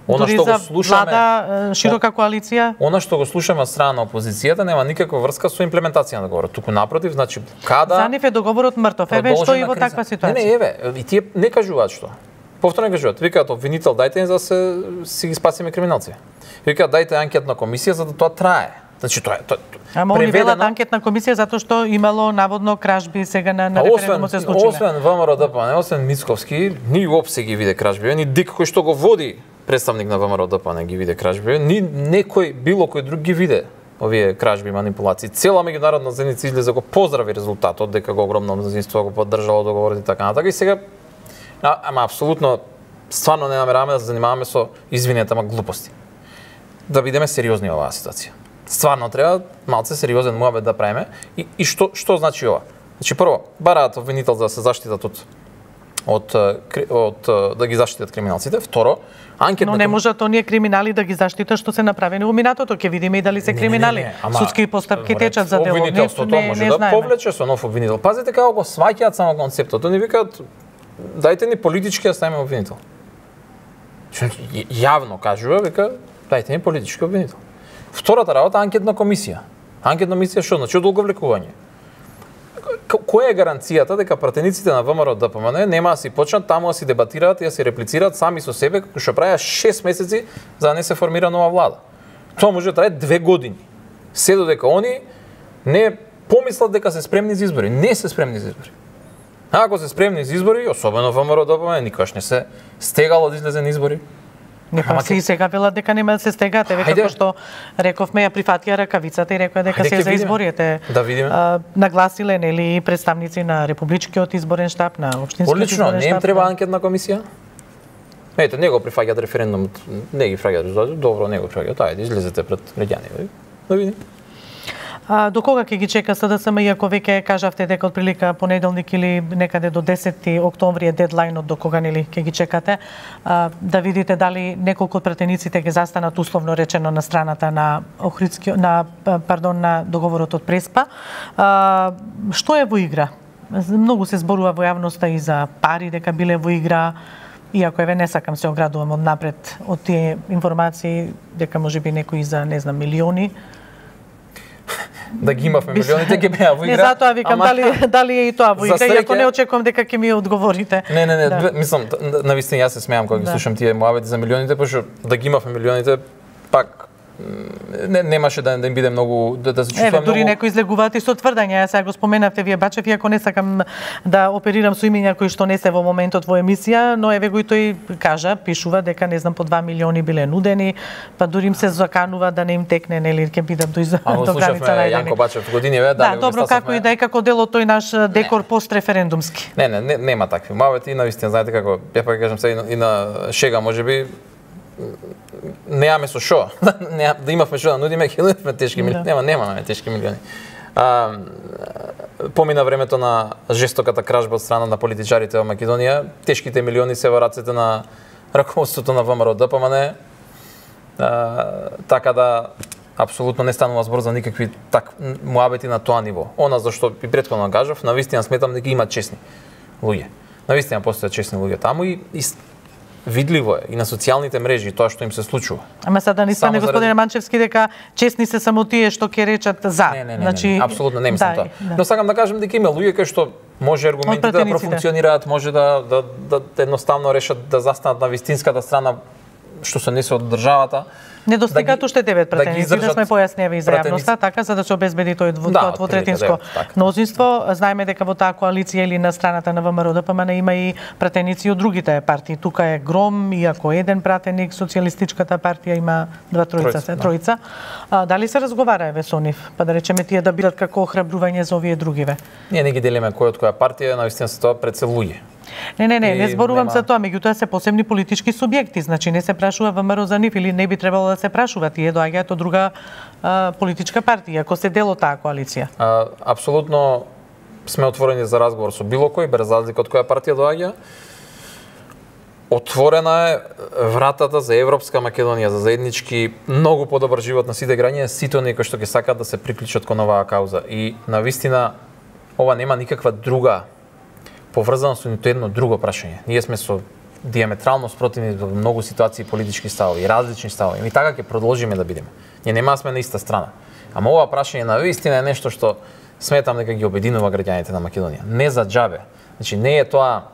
она што го слушаме, влада, широка коалиција, она што го слушаме од страна на опозицијата нема никаква врска со имплементација на договорот. Туку напротив, значи када за нив е договорот мртов. Еве што и во таква ситуација. Не, еве, и тие не кажуваат што. Повторно кажуваат, викаат обвинител дајте за да си ги спасиме криминалци. Викаат дајте анкетна комисија за да тоа трае. Значи тоа е ама они велат анкетна комисија затоа што имало наводно кражби сега на референдумот се случиле. Освен ВМРО ДПМН, освен Мицковски, ни уопсе ги виде кражби, ни Дик кој што го води представник на ВМРО ДПМН ги виде кражби, ни некој било кој друг ги виде овие кражби, манипулации. Цела меѓународна заедница излезе го поздрави резултатот дека го огромно мнозинство го поддржало договорот и така натака. И сега ама апсолутно стварно не намераваме да се занимаваме со извинете, ама глупости. Да бидеме сериозни во оваа ситуација. Стварно треба малце сериозен муабет да правиме и што значи ова? Значи прво, бараат обвинител за да се заштитат од да ги заштитат криминалците. Второ, анкетна. Но не можат оние криминали да ги заштитат што се направени во минатото, ќе видиме и дали се криминали. Судски постапки течат за дело. Обвинителството може да повлече со нов обвинител. Пазете како го сваќаат само концептот. Они викаат дајте ни политички да ставиме обвинител. Јавно кажува, вика дајте ни политички обвинител. Втората работа анкетна комисија. Анкетна комисија што значи одолговлекување. Која е гаранцијата дека пратениците на ВМРО ДПМН нема да си почнат таму да си дебатираат и да си реплицираат сами со себе како што правеа 6 месеци за да не се формира нова влада? Тоа може да трае 2 години. Се додека они не помислат дека се спремни за избори, не се спремни за избори. Ако се спремни за избори, особено ВМРО ДПМН, никогаш не се стегало да излезе на избори. Не па си сега велат дека нема да се стегате, како што рековме ја прифатија ракавицата и рекоа дека се за изборите. Да видиме. Нагласиле нели представници на републичкиот изборен штаб, на општинскиот изборен штаб. Одлично, не им треба анкетна комисија? Ете, не го прифаќаат референдумот, не ги фраќаат резултатот, добро, не го прифаќаат, ајде излезете пред граѓани, да видиме. До кога ќе ги чека СДСМ, иако веќе кажавте дека од прилика понеделник или некаде до 10 октомври е дедлајнот до кога нели ќе ги чекате, да видите дали неколку од пратениците ќе застанат условно речено на страната на на договорот од Преспа. Што е во игра? Многу се зборува во јавноста и за пари дека биле во игра, иако еве не сакам се оградувам од напред од тие информации дека можеби некои за не знам милиони. Да ги имавме милионите, ќе беа во игра. Не, затоа викам дали е и тоа во игра, иако не очекувам дека ќе ми одговорите. Не, мислам, навистина јас се смеам кога ги слушам тие муабети за милионите, пошто да ги имавме милионите, пак немаше да им биде многу да се чувствувам многу. Дури некои излегуваат и со тврдања, сега го споменавте вие Бачев, иако не сакам да оперирам со имиња кои што не се во моментот во емисија, но еве го и тој кажа, пишува дека не знам по 2 милиони биле нудени, па дури им се заканува да не им текне нели ќе бидат до граница најдени. Јанко Бачев години ве да, добро како и да е како дел од тој наш декор постреферендумски. Не, нема такви муабети, навистина знаете како, ја пак кажам се и на шега можеби немаме со шо, да имавме шо да нудиме, ќе нудиме тешки милиони, немаме тешки милиони. Помина времето на жестоката кражба од страна на политичарите во Македонија, тешките милиони се во рацете на раководството на ВМРО ДПМН, така да апсолутно не станува збор за никакви муабети на тоа ниво. Она зашто и претходно кажав, навистина сметам дека има чесни луѓе. Навистина постојат чесни луѓе таму и видливо е и на социјалните мрежи тоа што им се случува. Ама сега да не стане господине Манчевски дека чесни се само тие што ќе речат за. Значи апсолутно не мислам тоа. Но сакам да кажам дека има луѓе кои што може аргументите да профункционираат, може да едноставно решат да застанат на вистинската страна што се несе од државата. Не достигаат уште 9 пратеници, да сме појасневи за јавноста, така за да се обезбеди тоа двотретинско мнозинство. Знаеме дека во таа коалиција или на страната на ВМРО-ДПМН има и пратеници од другите партии. Тука е гром, иако еден пратеник, Социјалистичката партија има тројца. Дали се разговара еве со нив? Па да речеме тие да бидат како охрабрување за овие другиве? Ние не ги делиме кој од која партија, навистина се тоа пред се луѓе. Не зборувам за тоа, меѓутоа се посебни политички субјекти, значи не се прашува ВМРО за нив или не би требало да се прашува, тие доаѓаат од друга политичка партија, ако се дел од таа коалиција. Апсолутно сме отворени за разговор со било кој, без разлика од која партија доаѓа. Отворена е вратата за Европска Македонија, за заеднички многу подобар живот на сите граѓани, сите оние кои што ќе сакаат да се приклучат кон оваа кауза. И навистина ова нема никаква друга поврзано со нито едно друго прашање. Ние сме со диаметрално спротивни во многу ситуации политички ставови, различни ставови. И така ќе продолжиме да бидеме. Ние нема сме на иста страна. Ама ова прашање на вистина е нешто што сметам дека ги обединува граѓаните на Македонија. Не за џабе. Значи не е тоа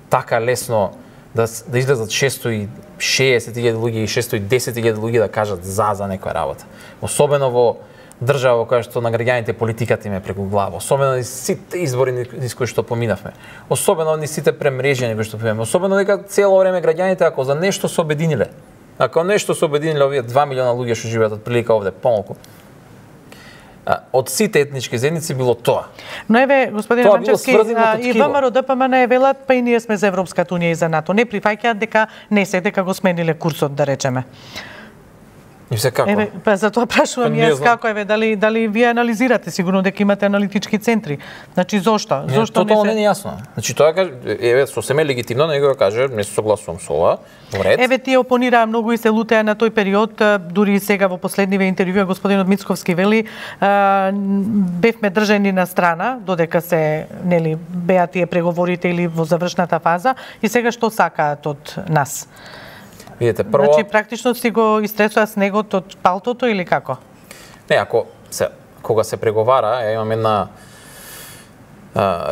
така лесно да излезат 660.000 луѓе и 610.000 луѓе да кажат за некоја работа. Особено во држава во која што на граѓаните политиката им е преку глава, особено низ сите избори низ кои што поминавме, особено низ сите премрежјани кои што поминавме, особено дека цело време граѓаните ако за нешто се обединиле, ако нешто се обединиле овие 2 милиона луѓе што живеат од прилика овде помалку, од сите етнички заедници било тоа. Но еве, господине Манчевски, и ВМРО-ДПМН велат, па и ние сме за Европската унија и за НАТО. Не прифаќаат дека не се, дека го смениле курсот, да речеме. И се како? Еве, па за тоа прашувам јас како дали вие анализирате, сигурно дека имате аналитички центри. Значи зошто? Зошто не е јасно. Значи тоа еве сосем е легитимно, него каже, не се согласувам со ова. Во ред. Еве тие опонираа многу и се лутеа на тој период, дури и сега во последниве интервјуа господинот Мицковски вели, бевме држани на страна додека се беа тие преговорите или во завршната фаза и сега што сакаат од нас? Видете, прво... Значи, практично си го истресува снегот од палтото или како? Не, кога се преговара, имам една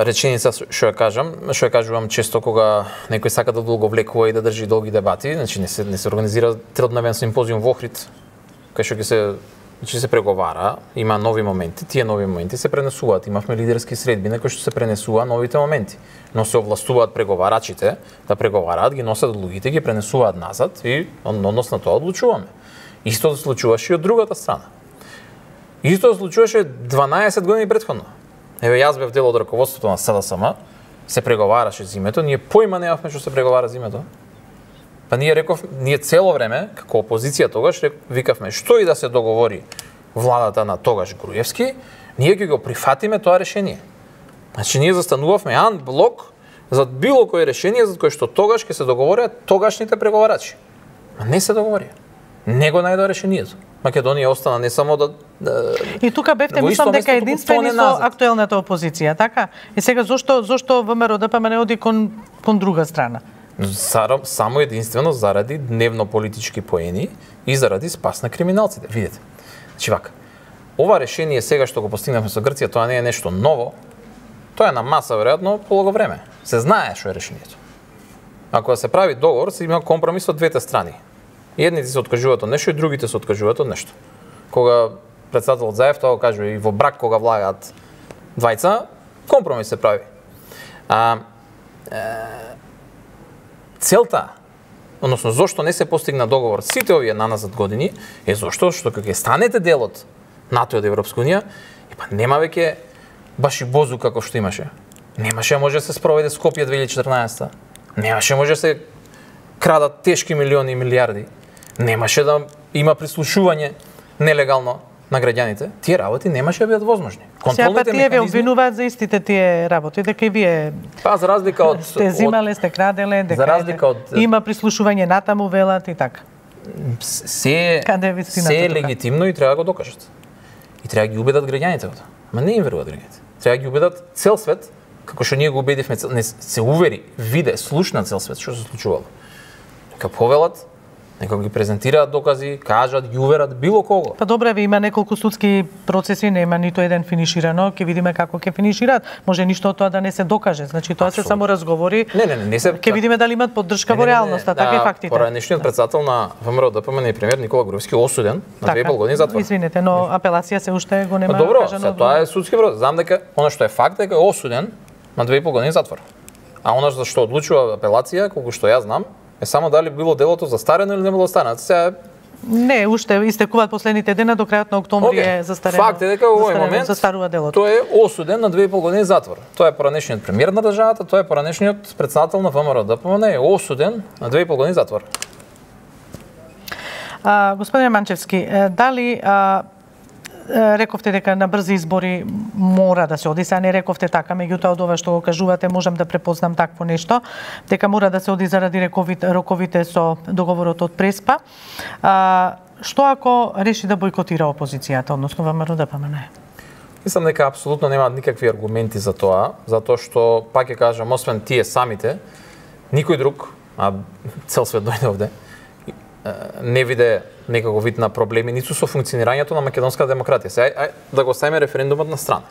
реченица што ја кажувам често кога некој сака да долго влекува и да држи долги дебати, значи не се организира тридневен симпозиум во Охрид, кај што се преговара, има нови моменти, тие нови моменти се пренесуваат. Имавме лидерски средби на кои што се пренесува новите моменти, но се овластуваат преговарачите да преговараат, ги носат луѓите, ги пренесуваат назад и односно тоа одлучуваме. Исто се случуваше и од другата страна. Исто се случуваше 12 години претходно. Еве јас бев дел од раководството на СДСМ, се преговараше за името, ние поима немавме што се преговара за името. Па ние цело време, како опозиција тогаш, викавме што и да се договори владата на тогаш Груевски, ние ќе го прифатиме тоа решение. Значи ние застанувавме анблок за било кое решение за кое што тогаш ќе се договорат тогашните преговарачи. А не се договорија. Не го најдоа решението. Македонија остана не само да И тука бевте, мислам дека единствени со актуелната опозиција, така? И сега зошто ВМРО-ДПМН оди кон друга страна? Само единствено заради дневно политички поени и заради спас на криминалците. Видете. Значи вака. Ова решение сега што го постигнавме со Грција, тоа не е нешто ново. Тоа е на маса веројатно полого време. Се знае што е решението. Ако се прави договор, се има компромис од двете страни. Едните се откажуваат од нешто и другите се откажуваат од нешто. Кога претседателот Заев тоа го кажува и во брак кога влагаат двајца, компромис се прави. Целта, односно зошто не се постигна договор сите овие наназад години, е зошто што кога ќе станете дел од НАТО и од Европска унија, па нема веќе баш и бозу како што имаше. Немаше може да се спроведе Скопје 2014. Немаше може да се крадат тешки милиони и милиарди. Немаше да има прислушување нелегално на граѓаните. Тие работи немаше да бидат возможни. Сега па тие ве обвинуваат за истите тие работи, дека и вие за разлика од сте земале, сте краделе, дека има прислушување натаму велат и така. Се е легитимно и треба да го докажат. И треба да ги убедат граѓаните. Ма не им веруваат граѓаните. Треба да ги убедат цел свет, како што ние го убедивме, се увери, виде, слушна цел свет што се случувало. Дека повелат Нека ги презентираат докази, кажат, ги уверат било кого. Па добре, има неколку судски процеси, нема ниту еден финиширано, ќе видиме како ќе финишираат. Може ништо од тоа да не се докаже. Значи тоа се само разговори. Не се. Ќе видиме дали имаат поддршка во реалноста, така и фактите. Поранешниот председател на ВМРО ДПМН и премиер Никола Груевски осуден на 2,5 години затвор. Извинете, но апелација се уште го нема добро, кажано. Тоа е судски процес. Знам дека она што е факт дека е осуден на 2,5 години затвор. А она за што одлучува апелација, колку што ја знам, е само дали било делото застарено или не било застарено. Сега не, уште истекуваат последните дена до крајот на октомври е застарено. Факт е дека во овој момент застарува делото. Тој е осуден на 2,5 години затвор. Тоа е поранешниот премиер на државата, тоа е поранешниот претседател на ВМРО ДПМН е осуден на 2,5 години затвор. Господин Манчевски, дали рековте дека на брзи избори мора да се оди, сега не рековте така, меѓутоа од ова што го кажувате можам да препознам такво нешто, дека мора да се оди заради роковите со договорот од Преспа. Што ако реши да бойкотира опозицијата, односно ВМРО ДПМН? Мислам дека апсолутно немаат никакви аргументи за тоа, затоа што, пак ќе кажам, освен тие самите, никој друг, а цел свет дојде овде, не виде некако вид на проблеми ниту со функционирањето на македонската демократија. Сега да го ставиме референдумот на страна.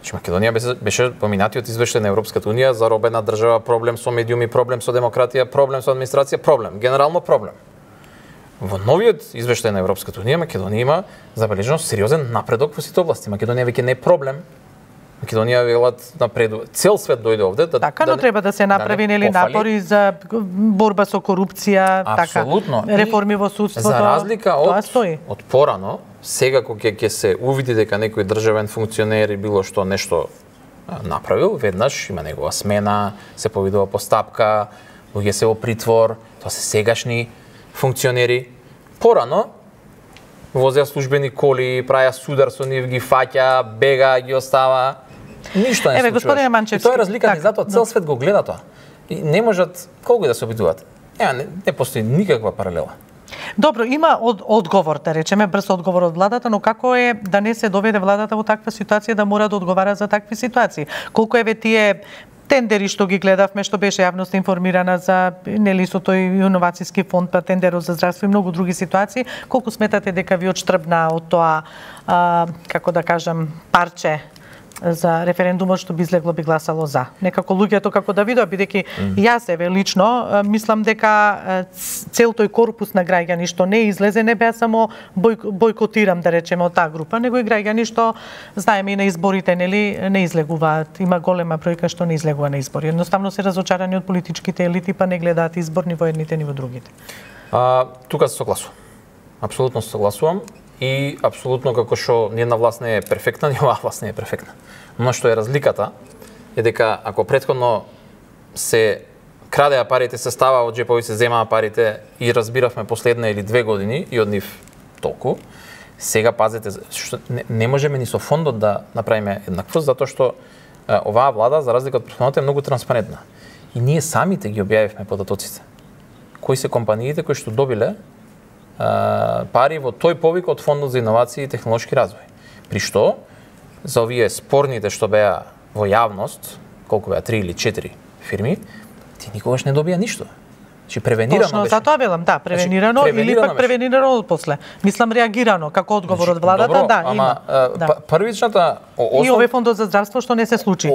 Значи Македонија беше поминатиот извештај на Европската унија за робена држава, проблем со медиуми, проблем со демократија, проблем со администрација, проблем, генерално проблем. Во новиот извештај на Европската унија Македонија има забележено сериозен напредок во сите области. Македонија веќе не е проблем. Македонија велат напредува. Цел свет дојде овде така, но треба да се направи нели напори за борба со корупција, абсолютно. Така. Реформи во судството. За разлика од порано, сега кога ќе се увиди дека некој државен функционер и било што нешто направил, веднаш има негова смена, се повидува постапка, луѓе се во притвор, тоа се сегашни функционери. Порано возеа службени коли, праја судар со нив, ги фаќа, бега, ги остава. Ништо не се случува. Господине Манчевски, тоа е разликата, и затоа цел свет го гледа тоа. И не можат колку и да се обидуваат. Не постои никаква паралела. Добро, има одговор, да речеме, брз одговор од владата, но како е да не се доведе владата во таква ситуација да мора да одговара за такви ситуации? Колку еве тие тендери што ги гледавме, што беше јавноста информирана за нели со тој иновацијски фонд, па тендерот за здравство и многу други ситуации, колку сметате дека ви отштрбна од тоа, како да кажам, парче за референдумот што би излегло би гласало за? Некако луѓето како да видат, бидејќи јас еве лично мислам дека цел тој корпус на граѓани што не излезе не беа само бойкотирам да речеме од таа група, него и граѓани што знаеме и на изборите нели не излегуваат. Има голема бројка што не излегува на избори. Едноставно се разочарани од политичките елити па не гледаат избор ни во едните ни во другите. Тука се согласувам. Апсолутно се согласувам. И апсолутно како што ниедна власт не е перфектна, ни оваа власт не е перфектна. Но што е разликата е дека ако претходно се крадеа парите, се става од џепови, се земаа парите и разбиравме последна или 2 години и од нив толку, сега пазете, што не можеме ни со фондот да направиме еднаквост, затоа што оваа влада, за разлика од претходната, е многу транспарентна. И ние самите ги објавивме податоците. Кои се компаниите кои што добиле пари во тој повик од Фондот за иновации и технолошки развој. При што, за овие спорните што беа во јавност, колку беа 3 или 4 фирми, ти никогаш не добија ништо. Значи превенирано точно, беше. затоа велам, да, превенирано, значи, или пак превенирано после. Мислам реагирано како одговор од владата, добро, да, има. Првичната и овој фондот за здравство што не се случи.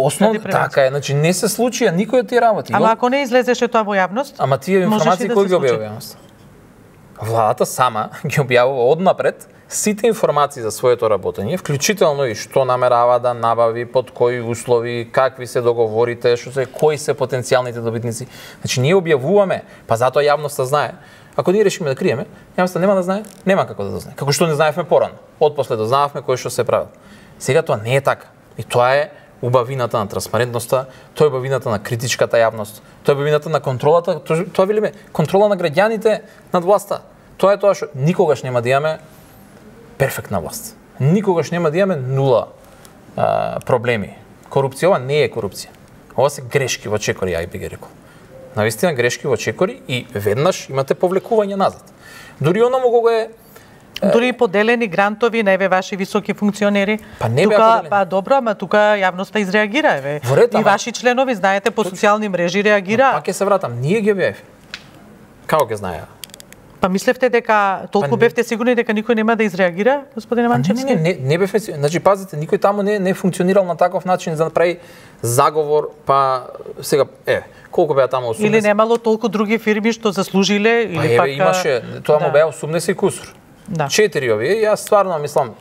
Така е, значи не се случи никој од тие работи. Ама ако не излезеше тоа во јавност, ама тие информации кој ги објавува јавност? Владата сама ги објавува однапред сите информации за своето работење, вклучително и што намерава да набави, под кои услови, какви се договорите, кои се потенцијалните добитници. Значи ние објавуваме, па затоа јавноста знае. Ако ние решиме да криеме, јавноста нема да знае, нема како да знае. Како што не знаевме порано. Отпосле дознававме кој што се правил. Сега тоа не е така. И тоа е убавината на транспарентноста, тоа е убавината на критичката јавност, тоа е убавината на контролата, тоа велиме контрола на граѓаните над власта. Тоа е тоа што никогаш нема да имаме перфектна власт. Никогаш нема да имаме нула проблеми. Корупција, ова не е корупција. Ова се грешки во чекори, ја би ги рекол. Навистина грешки во чекори и веднаш имате повлекување назад. Дури оному кога е дури поделени грантови на еве ваши високи функционери. Па не беа поделени. Па добро, ама тука јавноста изреагира еве. И ваши членови знаете по социјални мрежи реагира. Пак ќе се вратам, ние ги објавивме. Како ќе знаеа? Па мислевте дека толку бевте сигурни дека никој нема да изреагира, господине Манчевски? Не бевме, значи пазите, никој таму не функционирал на таков начин за да направи заговор, па сега колку беа таму 80? Или немало толку други фирми што заслужиле или пак имаше, тоа му беа 80 кусур. Да. 4 овие, јас стварно мислам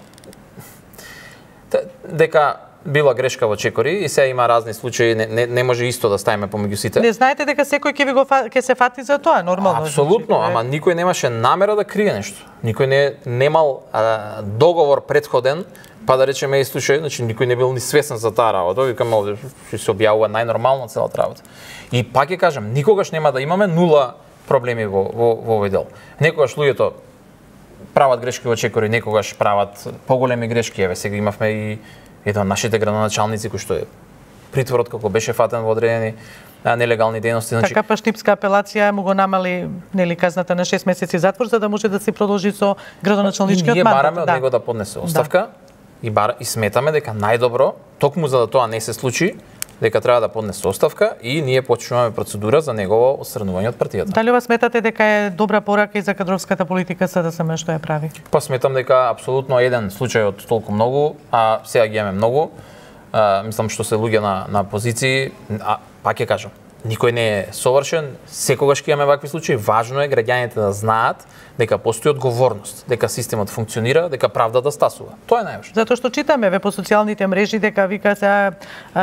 дека била грешка во чекори и сега има разни случаи, не може исто да ставиме помеѓу сите. Не знаете дека секој ќе се фати за тоа, нормално. Апсолутно, ама никој немаше намера да крие нешто. Никој немал договор претходен, па да речеме и случај, значи никој не бил ни свесен за таа работа, викам ќе се објавува најнормално целата работа. И пак ќе кажам, никогаш нема да имаме нула проблеми во овој дел. Некогаш луѓето прават грешки во чекори, некогаш прават поголеми грешки. Еве сега имавме и еден од нашите градоначалници кој што е притворот како беше фатен во одредени нелегални дејности. Значи така па штипска апелација му го намали нели казната на 6 месеци затвор за да може да се продолжи со градоначалничкиот мандат. Ние бараме од него да поднесе оставка и сметаме дека најдобро токму за да тоа не се случи, дека треба да поднесе оставка и ние почнуваме процедура за негово отстранување од партијата. Дали ова сметате дека е добра порака и за кадровската политика СДСМ што ја прави? Па сметам дека апсолутно еден случај од толку многу, а сега ги имаме многу. Мислам што се луѓе на позиции, пак ќе кажам, никој не е совршен, секогаш ќе имаме вакви случаи, важно е граѓаните да знаат дека постои одговорност, дека системот функционира, дека правдата стасува. Тоа е најважно. Затоа што читаме по социјалните мрежи дека вика сега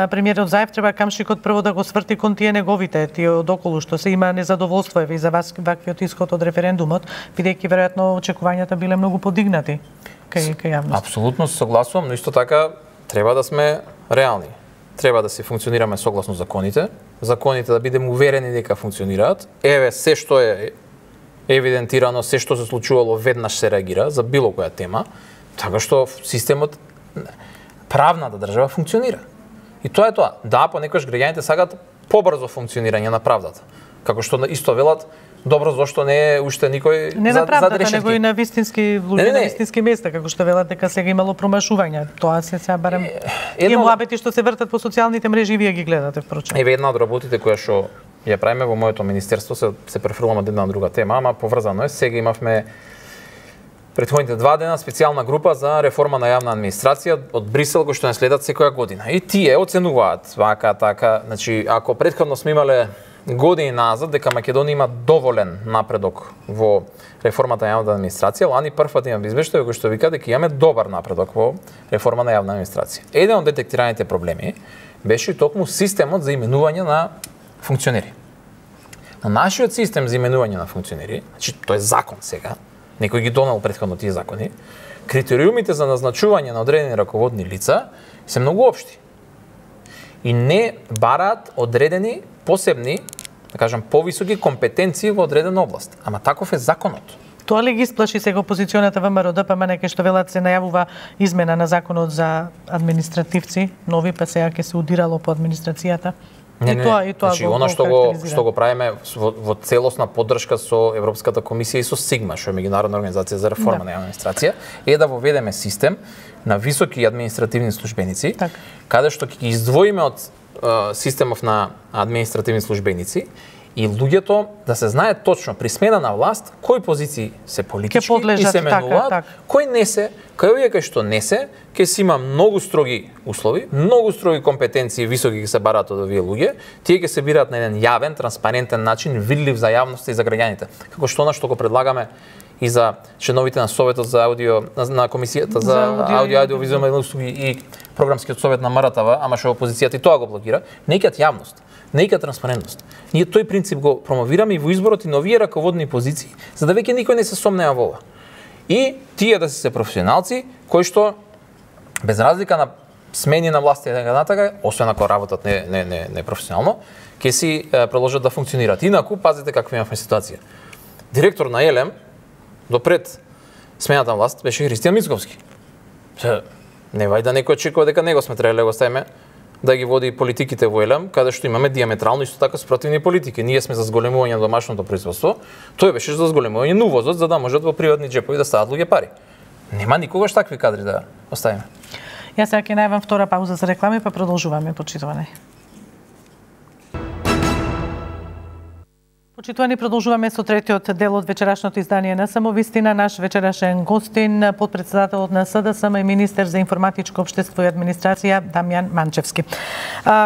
премиерот Заев треба камшикот прво да го сврти кон тие неговите, тие одоколу што се има незадоволство и за вас ваквиот исход од референдумот, бидејќи веројатно очекувањата биле многу подигнати кај јавност. Апсолутно се согласувам, но исто така треба да сме реални. Треба да се функционираме согласно законите, законите да бидеме уверени дека функционираат. Еве се што е евидентирано, се што се случувало веднаш се реагира за било која тема, така што системот, правната држава функционира. И тоа е тоа. Да, понекогаш граѓаните сакаат побрзо функционирање на правдата. Како што исто велат, добро зошто не е уште никој не на правдата, него и на вистински луѓе, на вистински места, како што велат дека сега имало промашувања. Тоа се сега барем и муабети што се вртат по социјалните мрежи и вие ги гледате впрочем. Еве една од работите која што ја правиме во моето министерство, се префрламе од една на друга тема, ама поврзано е. Сега имавме претходните 2 дена специјална група за реформа на јавна администрација од Брисел кој што не следат секоја година. И тие оценуваат вака така, значи ако претходно сме имале години назад дека Македонија има доволен напредок во реформата на јавната администрација, лани првпат имам извештај кој што вика дека имаме добар напредок во реформа на јавна администрација. Еден од детектираните проблеми беше токму системот за именување на функционери. На нашиот систем за именување на функционери, значи тоа е закон сега, некој ги донел претходно тие закони, критериумите за назначување на одредени раководни лица се многу општи. И не бараат одредени посебни, да кажам, повисоки компетенции во одредена област. Ама таков е законот. Тоа ли ги сплаши сега опозиционата ВМРО-ДПМН кај што велат се најавува измена на законот за административци, нови, па сега ќе се удирало по администрацијата? Не, значи, оно што го правиме во целосна поддршка со Европската комисија и со СИГМА, што е меѓународна организација за реформа на јавна администрација, е да воведеме систем на високи административни службеници, каде што ќе ги издвоиме од системов на административни службеници и луѓето да се знае точно при смена на власт кои позиции се политички и се менуваат, кои не се, кај овие кај што не се, ќе си има многу строги услови, многу строги компетенции високи ќе се бараат од овие луѓе, тие ќе се бираат на еден јавен, транспарентен начин, видлив за јавноста и за граѓаните. Како што она што го предлагаме и за членовите на Советот за аудио, на Комисијата за аудио-аудиовизуални услуги и програмскиот совет на МРТВ, ама што опозицијата и тоа го блокира, не икат јавност, не икат транспарентност. Ние тој принцип го промовираме и во изборот и на овие раководни позиции, за да веќе никој не се сомнеа во ова. И тие да се професионалци кои што без разлика на смени на власт и така натака, освен ако работат не професионално, ќе си продолжат да функционираат. Инаку пазите каква имавме ситуација. Директор на ЕЛЕМ допред смената на власт беше Христијан Мицковски. Не вај да некој очекува дека него сме требале да го ставиме да ги води политиките во ЕЛЕМ, каде што имаме диаметрално исто така спротивни политики. Ние сме за зголемување на домашното производство, тој беше за зголемување на увозот, за да можат во приватни џепови да стават луѓе пари. Нема никогаш такви кадри да оставиме. Јас сега ќе најавам втора пауза за реклами, па продолжуваме почитување. Почитувани, продолжуваме со третиот дел од вечерашното издание на Самовистина. Наш вечерашен гостин, подпредседателот на СДСМ и министер за информатичко општество и администрација Дамјан Манчевски.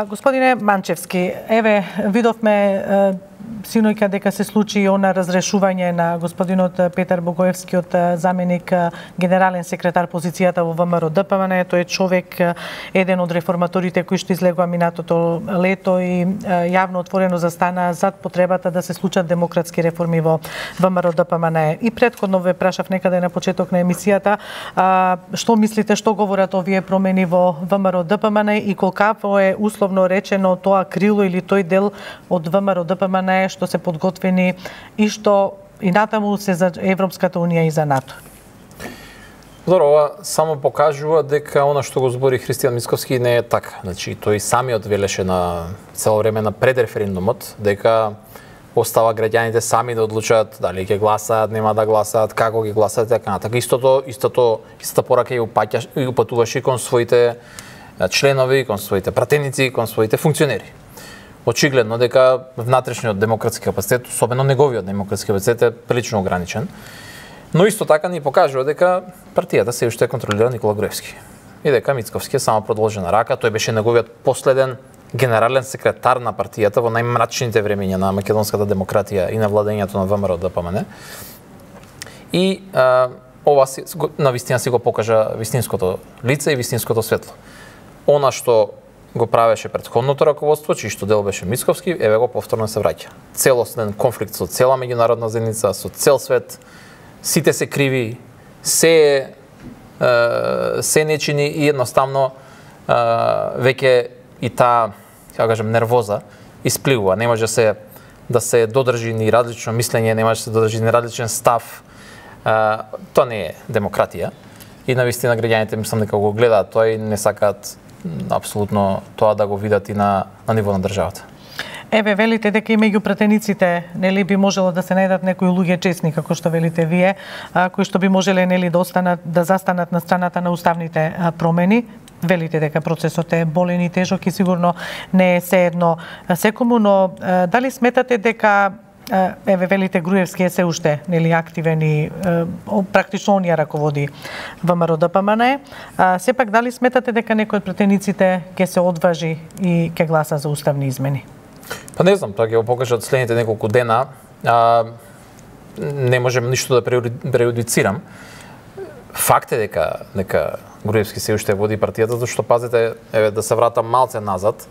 Господине Манчевски, еве видовме синоќа дека се случи она разрешување на господинот Петар Богоевски заменик генерален секретар позицијата во ВМРО ДПМН. Тој е човек, еден од реформаторите кои што излегува минатото лето и јавно отворено застана зад потребата да се случат демократски реформи во ВМРО ДПМН. И претходно ве прашав некаде на почеток на емисијата, што мислите, што говорат овие промени во ВМРО ДПМН и колкаво е условно речено тоа крило или тој дел од ВМРО ДПМН што се подготвени и што и натаму се за Европската унија и за НАТО. Добро, ова само покажува дека она што го збори Христијан Мицковски не е така. Значи, тој самиот велеше на цело време на пред референдумот дека остава граѓаните сами да одлучат дали ќе гласаат, нема да гласаат, како ќе гласаат, така натаму. Истата порака и упатуваше кон своите членови, кон своите пратеници, кон своите функционери. Очигледно дека внатрешниот демократски капацитет, особено неговиот демократски капацитет е прилично ограничен. Но исто така ни покажува дека партијата се уште контролира Никола Груевски. И дека Мицковски е само продолжена рака, тој беше неговиот последен генерален секретар на партијата во најмрачните времења на македонската демократија и на владењето на ВМРО ДПМН. И ова на вистина си го покажа вистинското лице и вистинското светло. Она што го правеше претходното раководство, чиј што дел беше Мицковски, еве го повторно се враќа. Целосен конфликт со цела меѓународна заедница, со цел свет, сите се криви, се нечини и едноставно веќе и таа, како кажем, нервоза испливува. Не може да се додржи ни различно мислење, не може да се додржи ни различен став. Тоа не е демократија. И навистина граѓаните мислам дека го гледаат тоа и не сакаат апсолутно тоа да го видат и на ниво на државата. Еве, велите дека и меѓу пратениците, нели, би можело да се најдат некои луѓе честни, како што велите вие, кои што би можеле, нели, да застанат на страната на уставните промени. Велите дека процесот е болен и тежок и сигурно не е сеедно секому, но дали сметате дека еве велите Груевски е се уште, нели, активен и практично он ја раководи ВМРО ДПМН. Сепак дали сметате дека некој од пратениците ќе се одважи и ќе гласа за уставни измени? Па не знам, тоа ќе го покажат следните неколку дена. Не можем ништо да преюдицирам. Факт е дека Груевски се уште води партијата, зашто пазете, еве да се вратам малце назад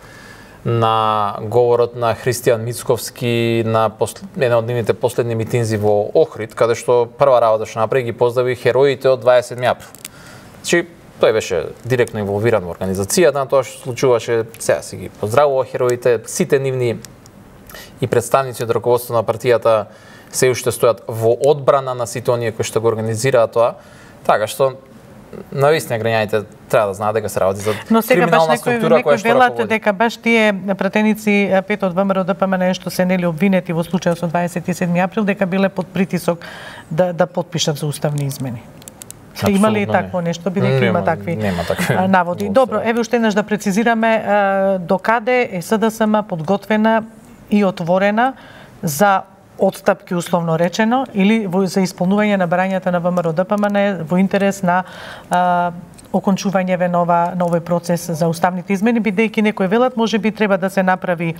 на говорот на Христијан Мицковски на една од нивните последни митинзи во Охрид, каде што прва работа што направи ги поздрави хероите од 27 април. Значи, тој беше директно инволвиран во организацијата, тоа што случуваше, сега си ги поздравува хероите, сите нивни и представници од раководството на партијата се уште стојат во одбрана на сите оние кои што го организираат тоа, така што навистина граѓаните треба да знаат дека се работи за криминална структура која што раководи. Дека баш тие пратеници, пет од ВМРО ДПМН што се нели обвинети во случајот со 27 април, дека биле под притисок да потпишат за уставни измени. Има ли такво нешто, бидејќи има такви наводи? Добро, еве уште еднаш да прецизираме докаде е СДСМ подготвена и отворена за отстапки условно речено или за исполнување на барањата на ВМРО ДПМН во интерес на окончување на овој процес за уставните измени, бидејќи некои велат можеби треба да се направи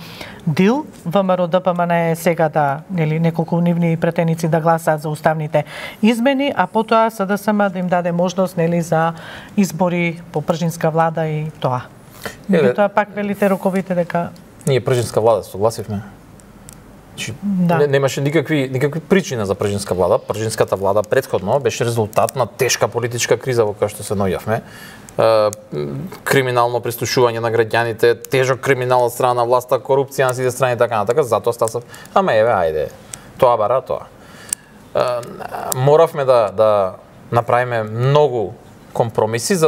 дил, ВМРО ДПМН сега да, нели, неколку нивни пратеници да гласаат за уставните измени, а потоа СДСМ да им даде можност, нели, за избори по пржинска влада и тоа. Тоа пак велите роковите дека ние пржинска влада согласивме. Да. Немаше никакви причини за пржинска влада. Пржинската влада претходно беше резултат на тешка политичка криза во која што се наоѓавме. Криминално прислушување на граѓаните, тежок криминал од страна на власта, корупција на сите страни и така натака. Затоа стасав, ама еве, ајде, тоа бара тоа. Моравме да направиме многу компромиси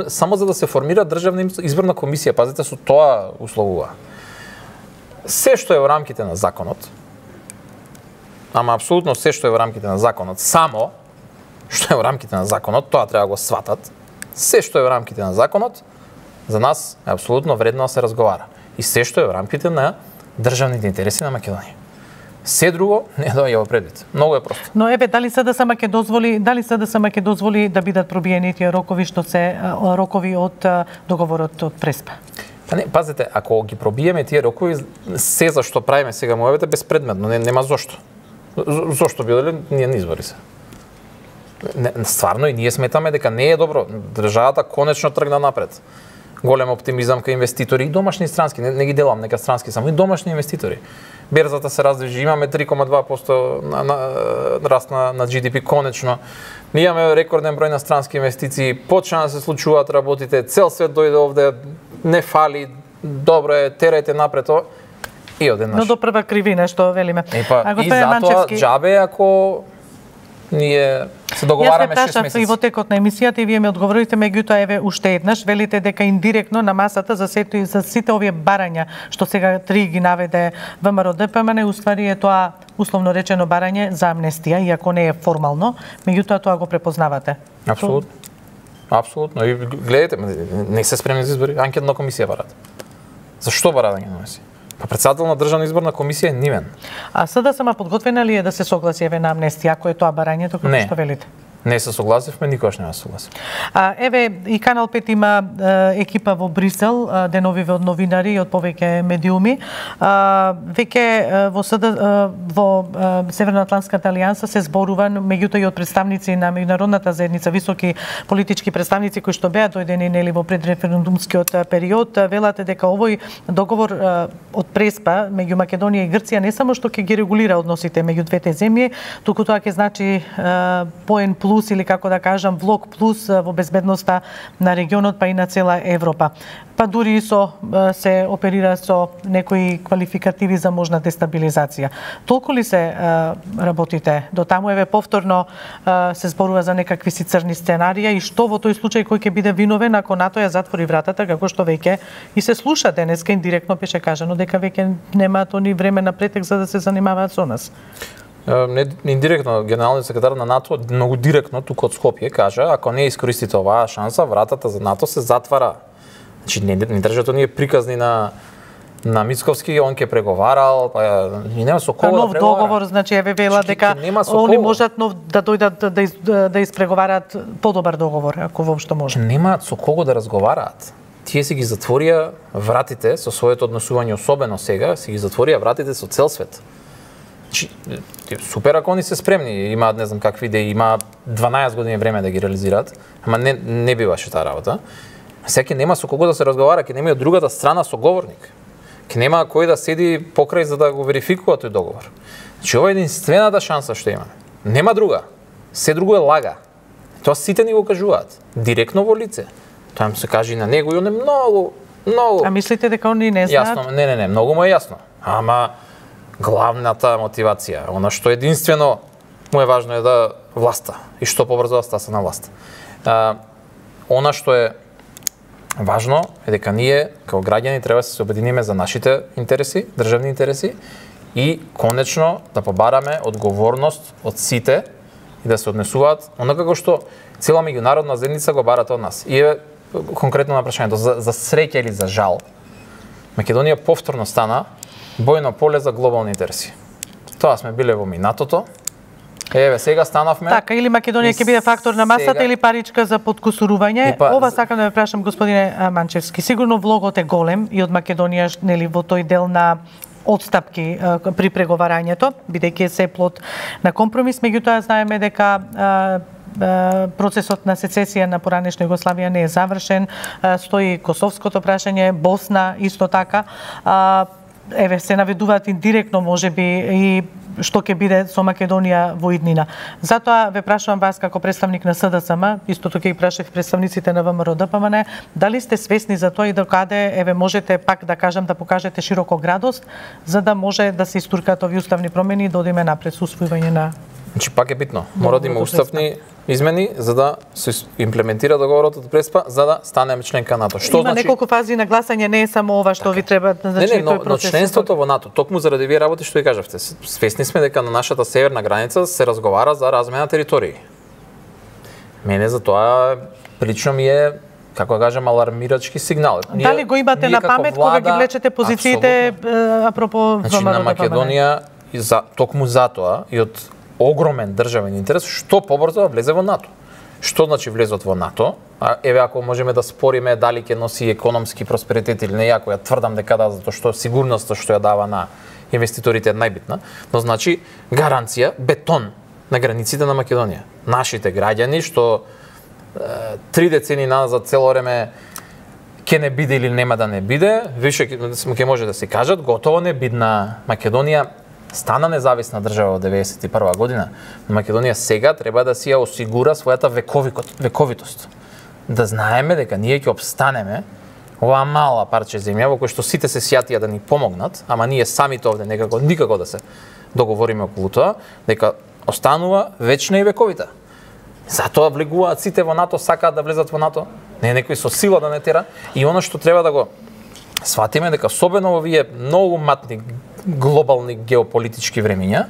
само за да се формира државна изборна комисија. Пазите, со тоа условува. Се што е во рамките на законот, ама апсолутно се што е во рамките на законот, само што е во рамките на законот, тоа треба да го сватат. Се што е во рамките на законот, за нас е апсолутно вредно да се разговара. И се што е во рамките на државните интереси на Македонија. Се друго не доаѓа во предвид. Многу е просто. Но еве дали СДСМ ќе дозволи да бидат пробиени тие рокови што се рокови од договорот од Преспа? Па не, пазете, ако ги пробиеме тие рокови, се за што правиме сега моевете безпредметно, нема зошто. Зошто биделе ние на избори се. Стварно и ние сметаме дека не е добро. Државата конечно тргна напред. Голем оптимизам кај инвеститори и домашни и странски, не ги делам нека странски, само и домашни инвеститори. Берзата се раздвижи, имаме 3,2% на раст на GDP конечно. Ние имаме рекорден број на странски инвестиции, почна да се случуваат работите, цел свет дојде овде, не фали, добро е, терајте напред и одеднаш. Но до прва кривина што велиме. И затоа џабе ако ние се договараме 6 месеци. Јас прашав и во текот на емисијата и вие ми одговорите, меѓутоа еве уште еднаш велите дека индиректно на масата за сите овие барања што сега 3 ги наведе ВМРО ДПМН, уствари е тоа условно речено барање за амнестија, иако не е формално, меѓутоа тоа го препознавате. Апсолутно. Апсолутно. И гледате, не се спремни за избори, анкетна комисија барат. Зашто барат анкетна комисија? Па председател на државна изборна комисија е нимен. А СДСМ подготвена ли е да се согласи еве на амнестија, ако е тоа барањето како што велите? Не се согласивме, никогаш не се согласив. Еве и Канал 5 има екипа во Брисел, деновиве од новинари и од повеќе медиуми. Веќе во Северноатлантската алијанса се зборува, меѓутоа и од представници на меѓународната заедница, високи политички представници кои што беа дојдени нели во предреферендумскиот период, велате дека овој договор од Преспа меѓу Македонија и Грција не само што ќе ги регулира односите меѓу двете земји, туку тоа ќе значи поен плюс или како да кажам влог плюс во безбедноста на регионот па и на цела Европа. Па дури и се оперира со некои квалификативи за можна дестабилизација. Толку ли се работите до таму, еве повторно се зборува за некакви си црни сценарија и што во тој случај кој ќе биде виновен ако НАТО ја затвори вратата, како што веќе и се слуша денеска индиректно беше кажано дека веќе немаат они време на претек за да се занимаваат со нас. Индиректно генералниот секретар на НАТО многу директно тука од Скопје кажа, ако не искористите оваа шанса, вратата за НАТО се затвара. Значи не државата ние приказни на Мицковски, он ќе преговарал, па и нема со кого да преговара. Договор, значи еве вела дека они можат да дојдат да испреговараат подобар договор, ако воопшто може. Немаат со кого да разговараат. Тие си ги затворија вратите со своето однесување, особено сега, си ги затворија вратите со цел свет. Супер ако они се спремни, имаат не знам какви идеи, има 12 години време да ги реализираат, ама не биваше таа работа. Сега нема со кого да се разговара, ќе нема и од другата страна соговорник. Ќе нема кој да седи покрај за да го верификува тој договор. Значи ова е единствената шанса што има. Нема друга. Се друго е лага. Тоа сите ни го кажуваат, директно во лице. Тоа им се каже и на него и он е многу. А мислите дека они не знаат? Јасно, не, многу му е јасно. Ама главната мотивација, она што единствено му е важно е да власта и што побрзо да стаса на власт. Она што е важно е дека ние како граѓани треба да се обединиме за нашите интереси, државни интереси и конечно да побараме одговорност од сите и да се однесуваат онака како што цела меѓународна заедница го барате од нас. И е конкретно на прашањето за среќа или за жал. Македонија повторно стана бојно поле за глобални интереси. Тоа сме биле во минатото. Еве сега станавме. Така, или Македонија ќе биде фактор на масата сега, или паричка за подкусурување. Ова сакам да ве прашам, господине Манчевски. Сигурно влогот е голем и од Македонија нели во тој дел на отстапки при преговарањето, бидејќи се плод на компромис, меѓутоа знаеме дека процесот на сецесија на поранешна Југославија не е завршен, стои косовското прашање, Босна исто така. Еве се наведуваат индиректно можеби и што ќе биде со Македонија во иднина. Затоа ве прашувам вас како представник на СДСМ, истото ќе ги прашав представниците на ВМРО ДПМН, дали сте свесни за тоа и докаде еве можете пак да кажам да покажете широко градост за да може да се истуркаат овие уставни промени и да одиме напред со усвојување на. Значи пак е битно. Мора да има уставни измени за да се имплементира договорот од Преспа за да станеме членка на НАТО. Што има значи неколку фази на гласање, не е само ова што ви треба, значи тој процес. Но членството во НАТО, токму заради вие работи што ви кажавте, свесни сме дека на нашата северна граница се разговара за размена територии. Мене за тоа прилично ми е како да кажам алармирачки сигнал. Дали го имате на памет кога ги влечете позициите апропо значи, на Македонија токму затоа и од огромен државен интерес што побрзо влезе во НАТО. Што значи влезот во НАТО? Еве ако можеме да спориме дали ќе носи економски просперитет или не, ако ја тврдам дека да, затоа што сигурноста што ја дава на инвеститорите е најбитна, но значи гаранција, бетон на границите на Македонија. Нашите граѓани што 3 децени назад цело време ќе не биде или нема да не биде, више ќе може да се кажат, готово не бидна Македонија стана независна држава во 91 година. Македонија сега треба да си ја осигура својата вековитост. Да знаеме дека ние ќе обстанеме оваа мала парче земја во кој што сите се сјатија да ни помогнат, ама ние самите овде никако да се договориме околу тоа, дека останува вечна и вековита. Затоа влегуваат сите во НАТО, сакаат да влезат во НАТО, не некој со сила да не тера. И она што треба да го сватиме дека особено во овие многу матни глобални геополитички времиња,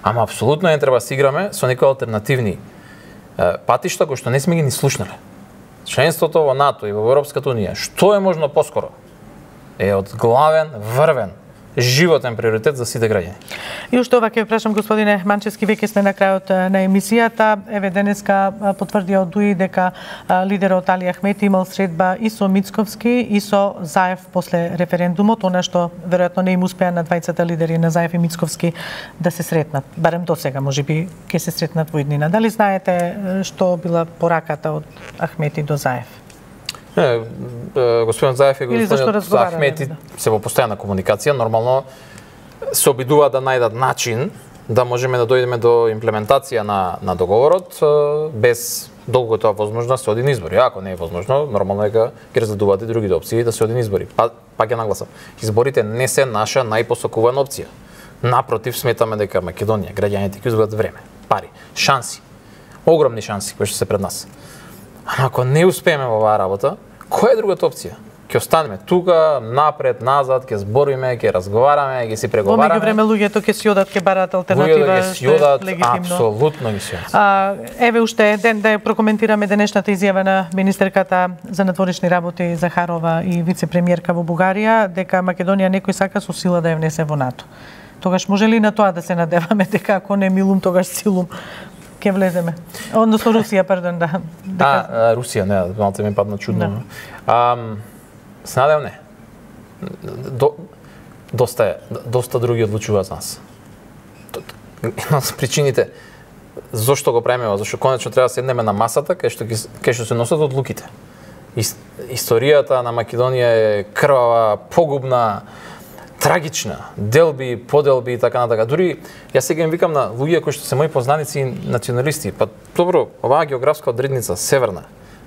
ама апсолутно не треба да се играме со некои алтернативни патишта кои што не сме ги ни слушнале. Членството во НАТО и во Европската унија, што е можно поскоро, е од главен, врвен, животен приоритет за сите граѓани. И уште ова ќе прашам, господине Манчевски, веќе сме на крајот на емисијата. Еве денеска потврди од ДУИ дека лидерот Али Ахмети имал средба и со Мицковски и со Заев после референдумот, она што веројатно не им успеа на двајцата лидери на Заев и Мицковски да се сретнат. Барем до сега, можеби ќе се сретнат во иднина. Дали знаете што била пораката од Ахмети до Заев? Не, господин Заев и господин Ахмети се во постојана комуникација, нормално се обидуваат да најдат начин да можеме да дојдеме до имплементација на договорот без долго тоа возможно се оди на избори. Ако не е возможно, нормално е дека ќе разгледуваат и другите опции да се оди на избори. Пак ќе нагласам. Изборите не се наша најпосакувана опција. Напротив, сметаме дека Македонија, граѓаните ќе изгубат време, пари, шанси, огромни шанси кои што се пред нас. Ама ако не успееме во оваа работа, која е другата опција? Ќе останеме тука, напред, назад, ќе збориме, ќе разговараме, ќе си преговараме. Во меѓувреме луѓето ќе си одат, ќе бараат алтернатива, што е легитимно. Апсолутно ги си одат. Еве уште ден да ја прокоментираме денешната изјава на министерката за надворешни работи Захарова и вице-премиерка во Бугарија дека Македонија некој сака со сила да ја внесе во НАТО. Тогаш може ли на тоа да се надеваме дека ако не милум, тогаш силум ќе влеземе? Односно Русија, пардон, да. Русија, не, малце ми падна чудно. Се надевам не. Доста други одлучуваат за нас. Една од причините зошто го правиме, зашто конечно треба да седнеме на масата кај што се носат одлуките. Историјата на Македонија е крвава, погубна, трагична, делби, поделби и така натака. Дури јас сега им викам на луѓе кои што се мои познаници и националисти, па добро, оваа географска одредница северна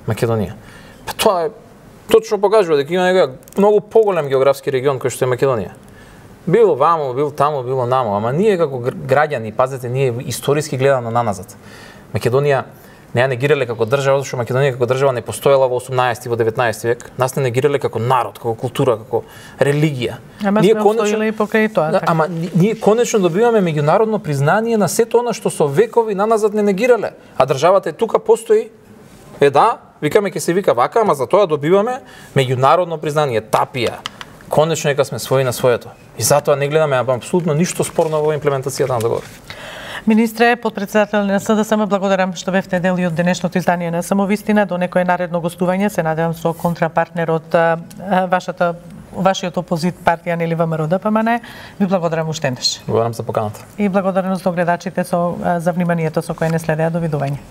Македонија. Па тоа е точно покажува дека има некој многу поголем географски регион кој што е Македонија. Било вамо, било таму, било намо, ама ние како граѓани, пазете, ние историски гледано наназад. Македонија не ја негирале како држава, зашто Македонија како држава не постоела во 18 и во 19 век. Нас не негирале како народ, како култура, како религија. Ама ние конечно и покрај тоа. Ама ние конечно добиваме меѓународно признание на сето она што со векови наназад не негирале, а државата е тука постои. Да, викаме ќе се вика вака, ама за тоа добиваме меѓународно признание, тапија. Конечно дека сме своји на своето. И затоа не гледаме апсолутно ништо спорно во имплементацијата на договор. Министре, подпредседател на СДСМ, благодарам што бевте дел и од денешното издание на Самовистина. До некое наредно гостување, се надевам со контрапартнерот вашиот опозит партија Нели ВМРО-ДПМН. Ви благодарам уште еднаш. Благодарам за поканата. И благодарност до гледачите за вниманието со кое не следеа. Довидување.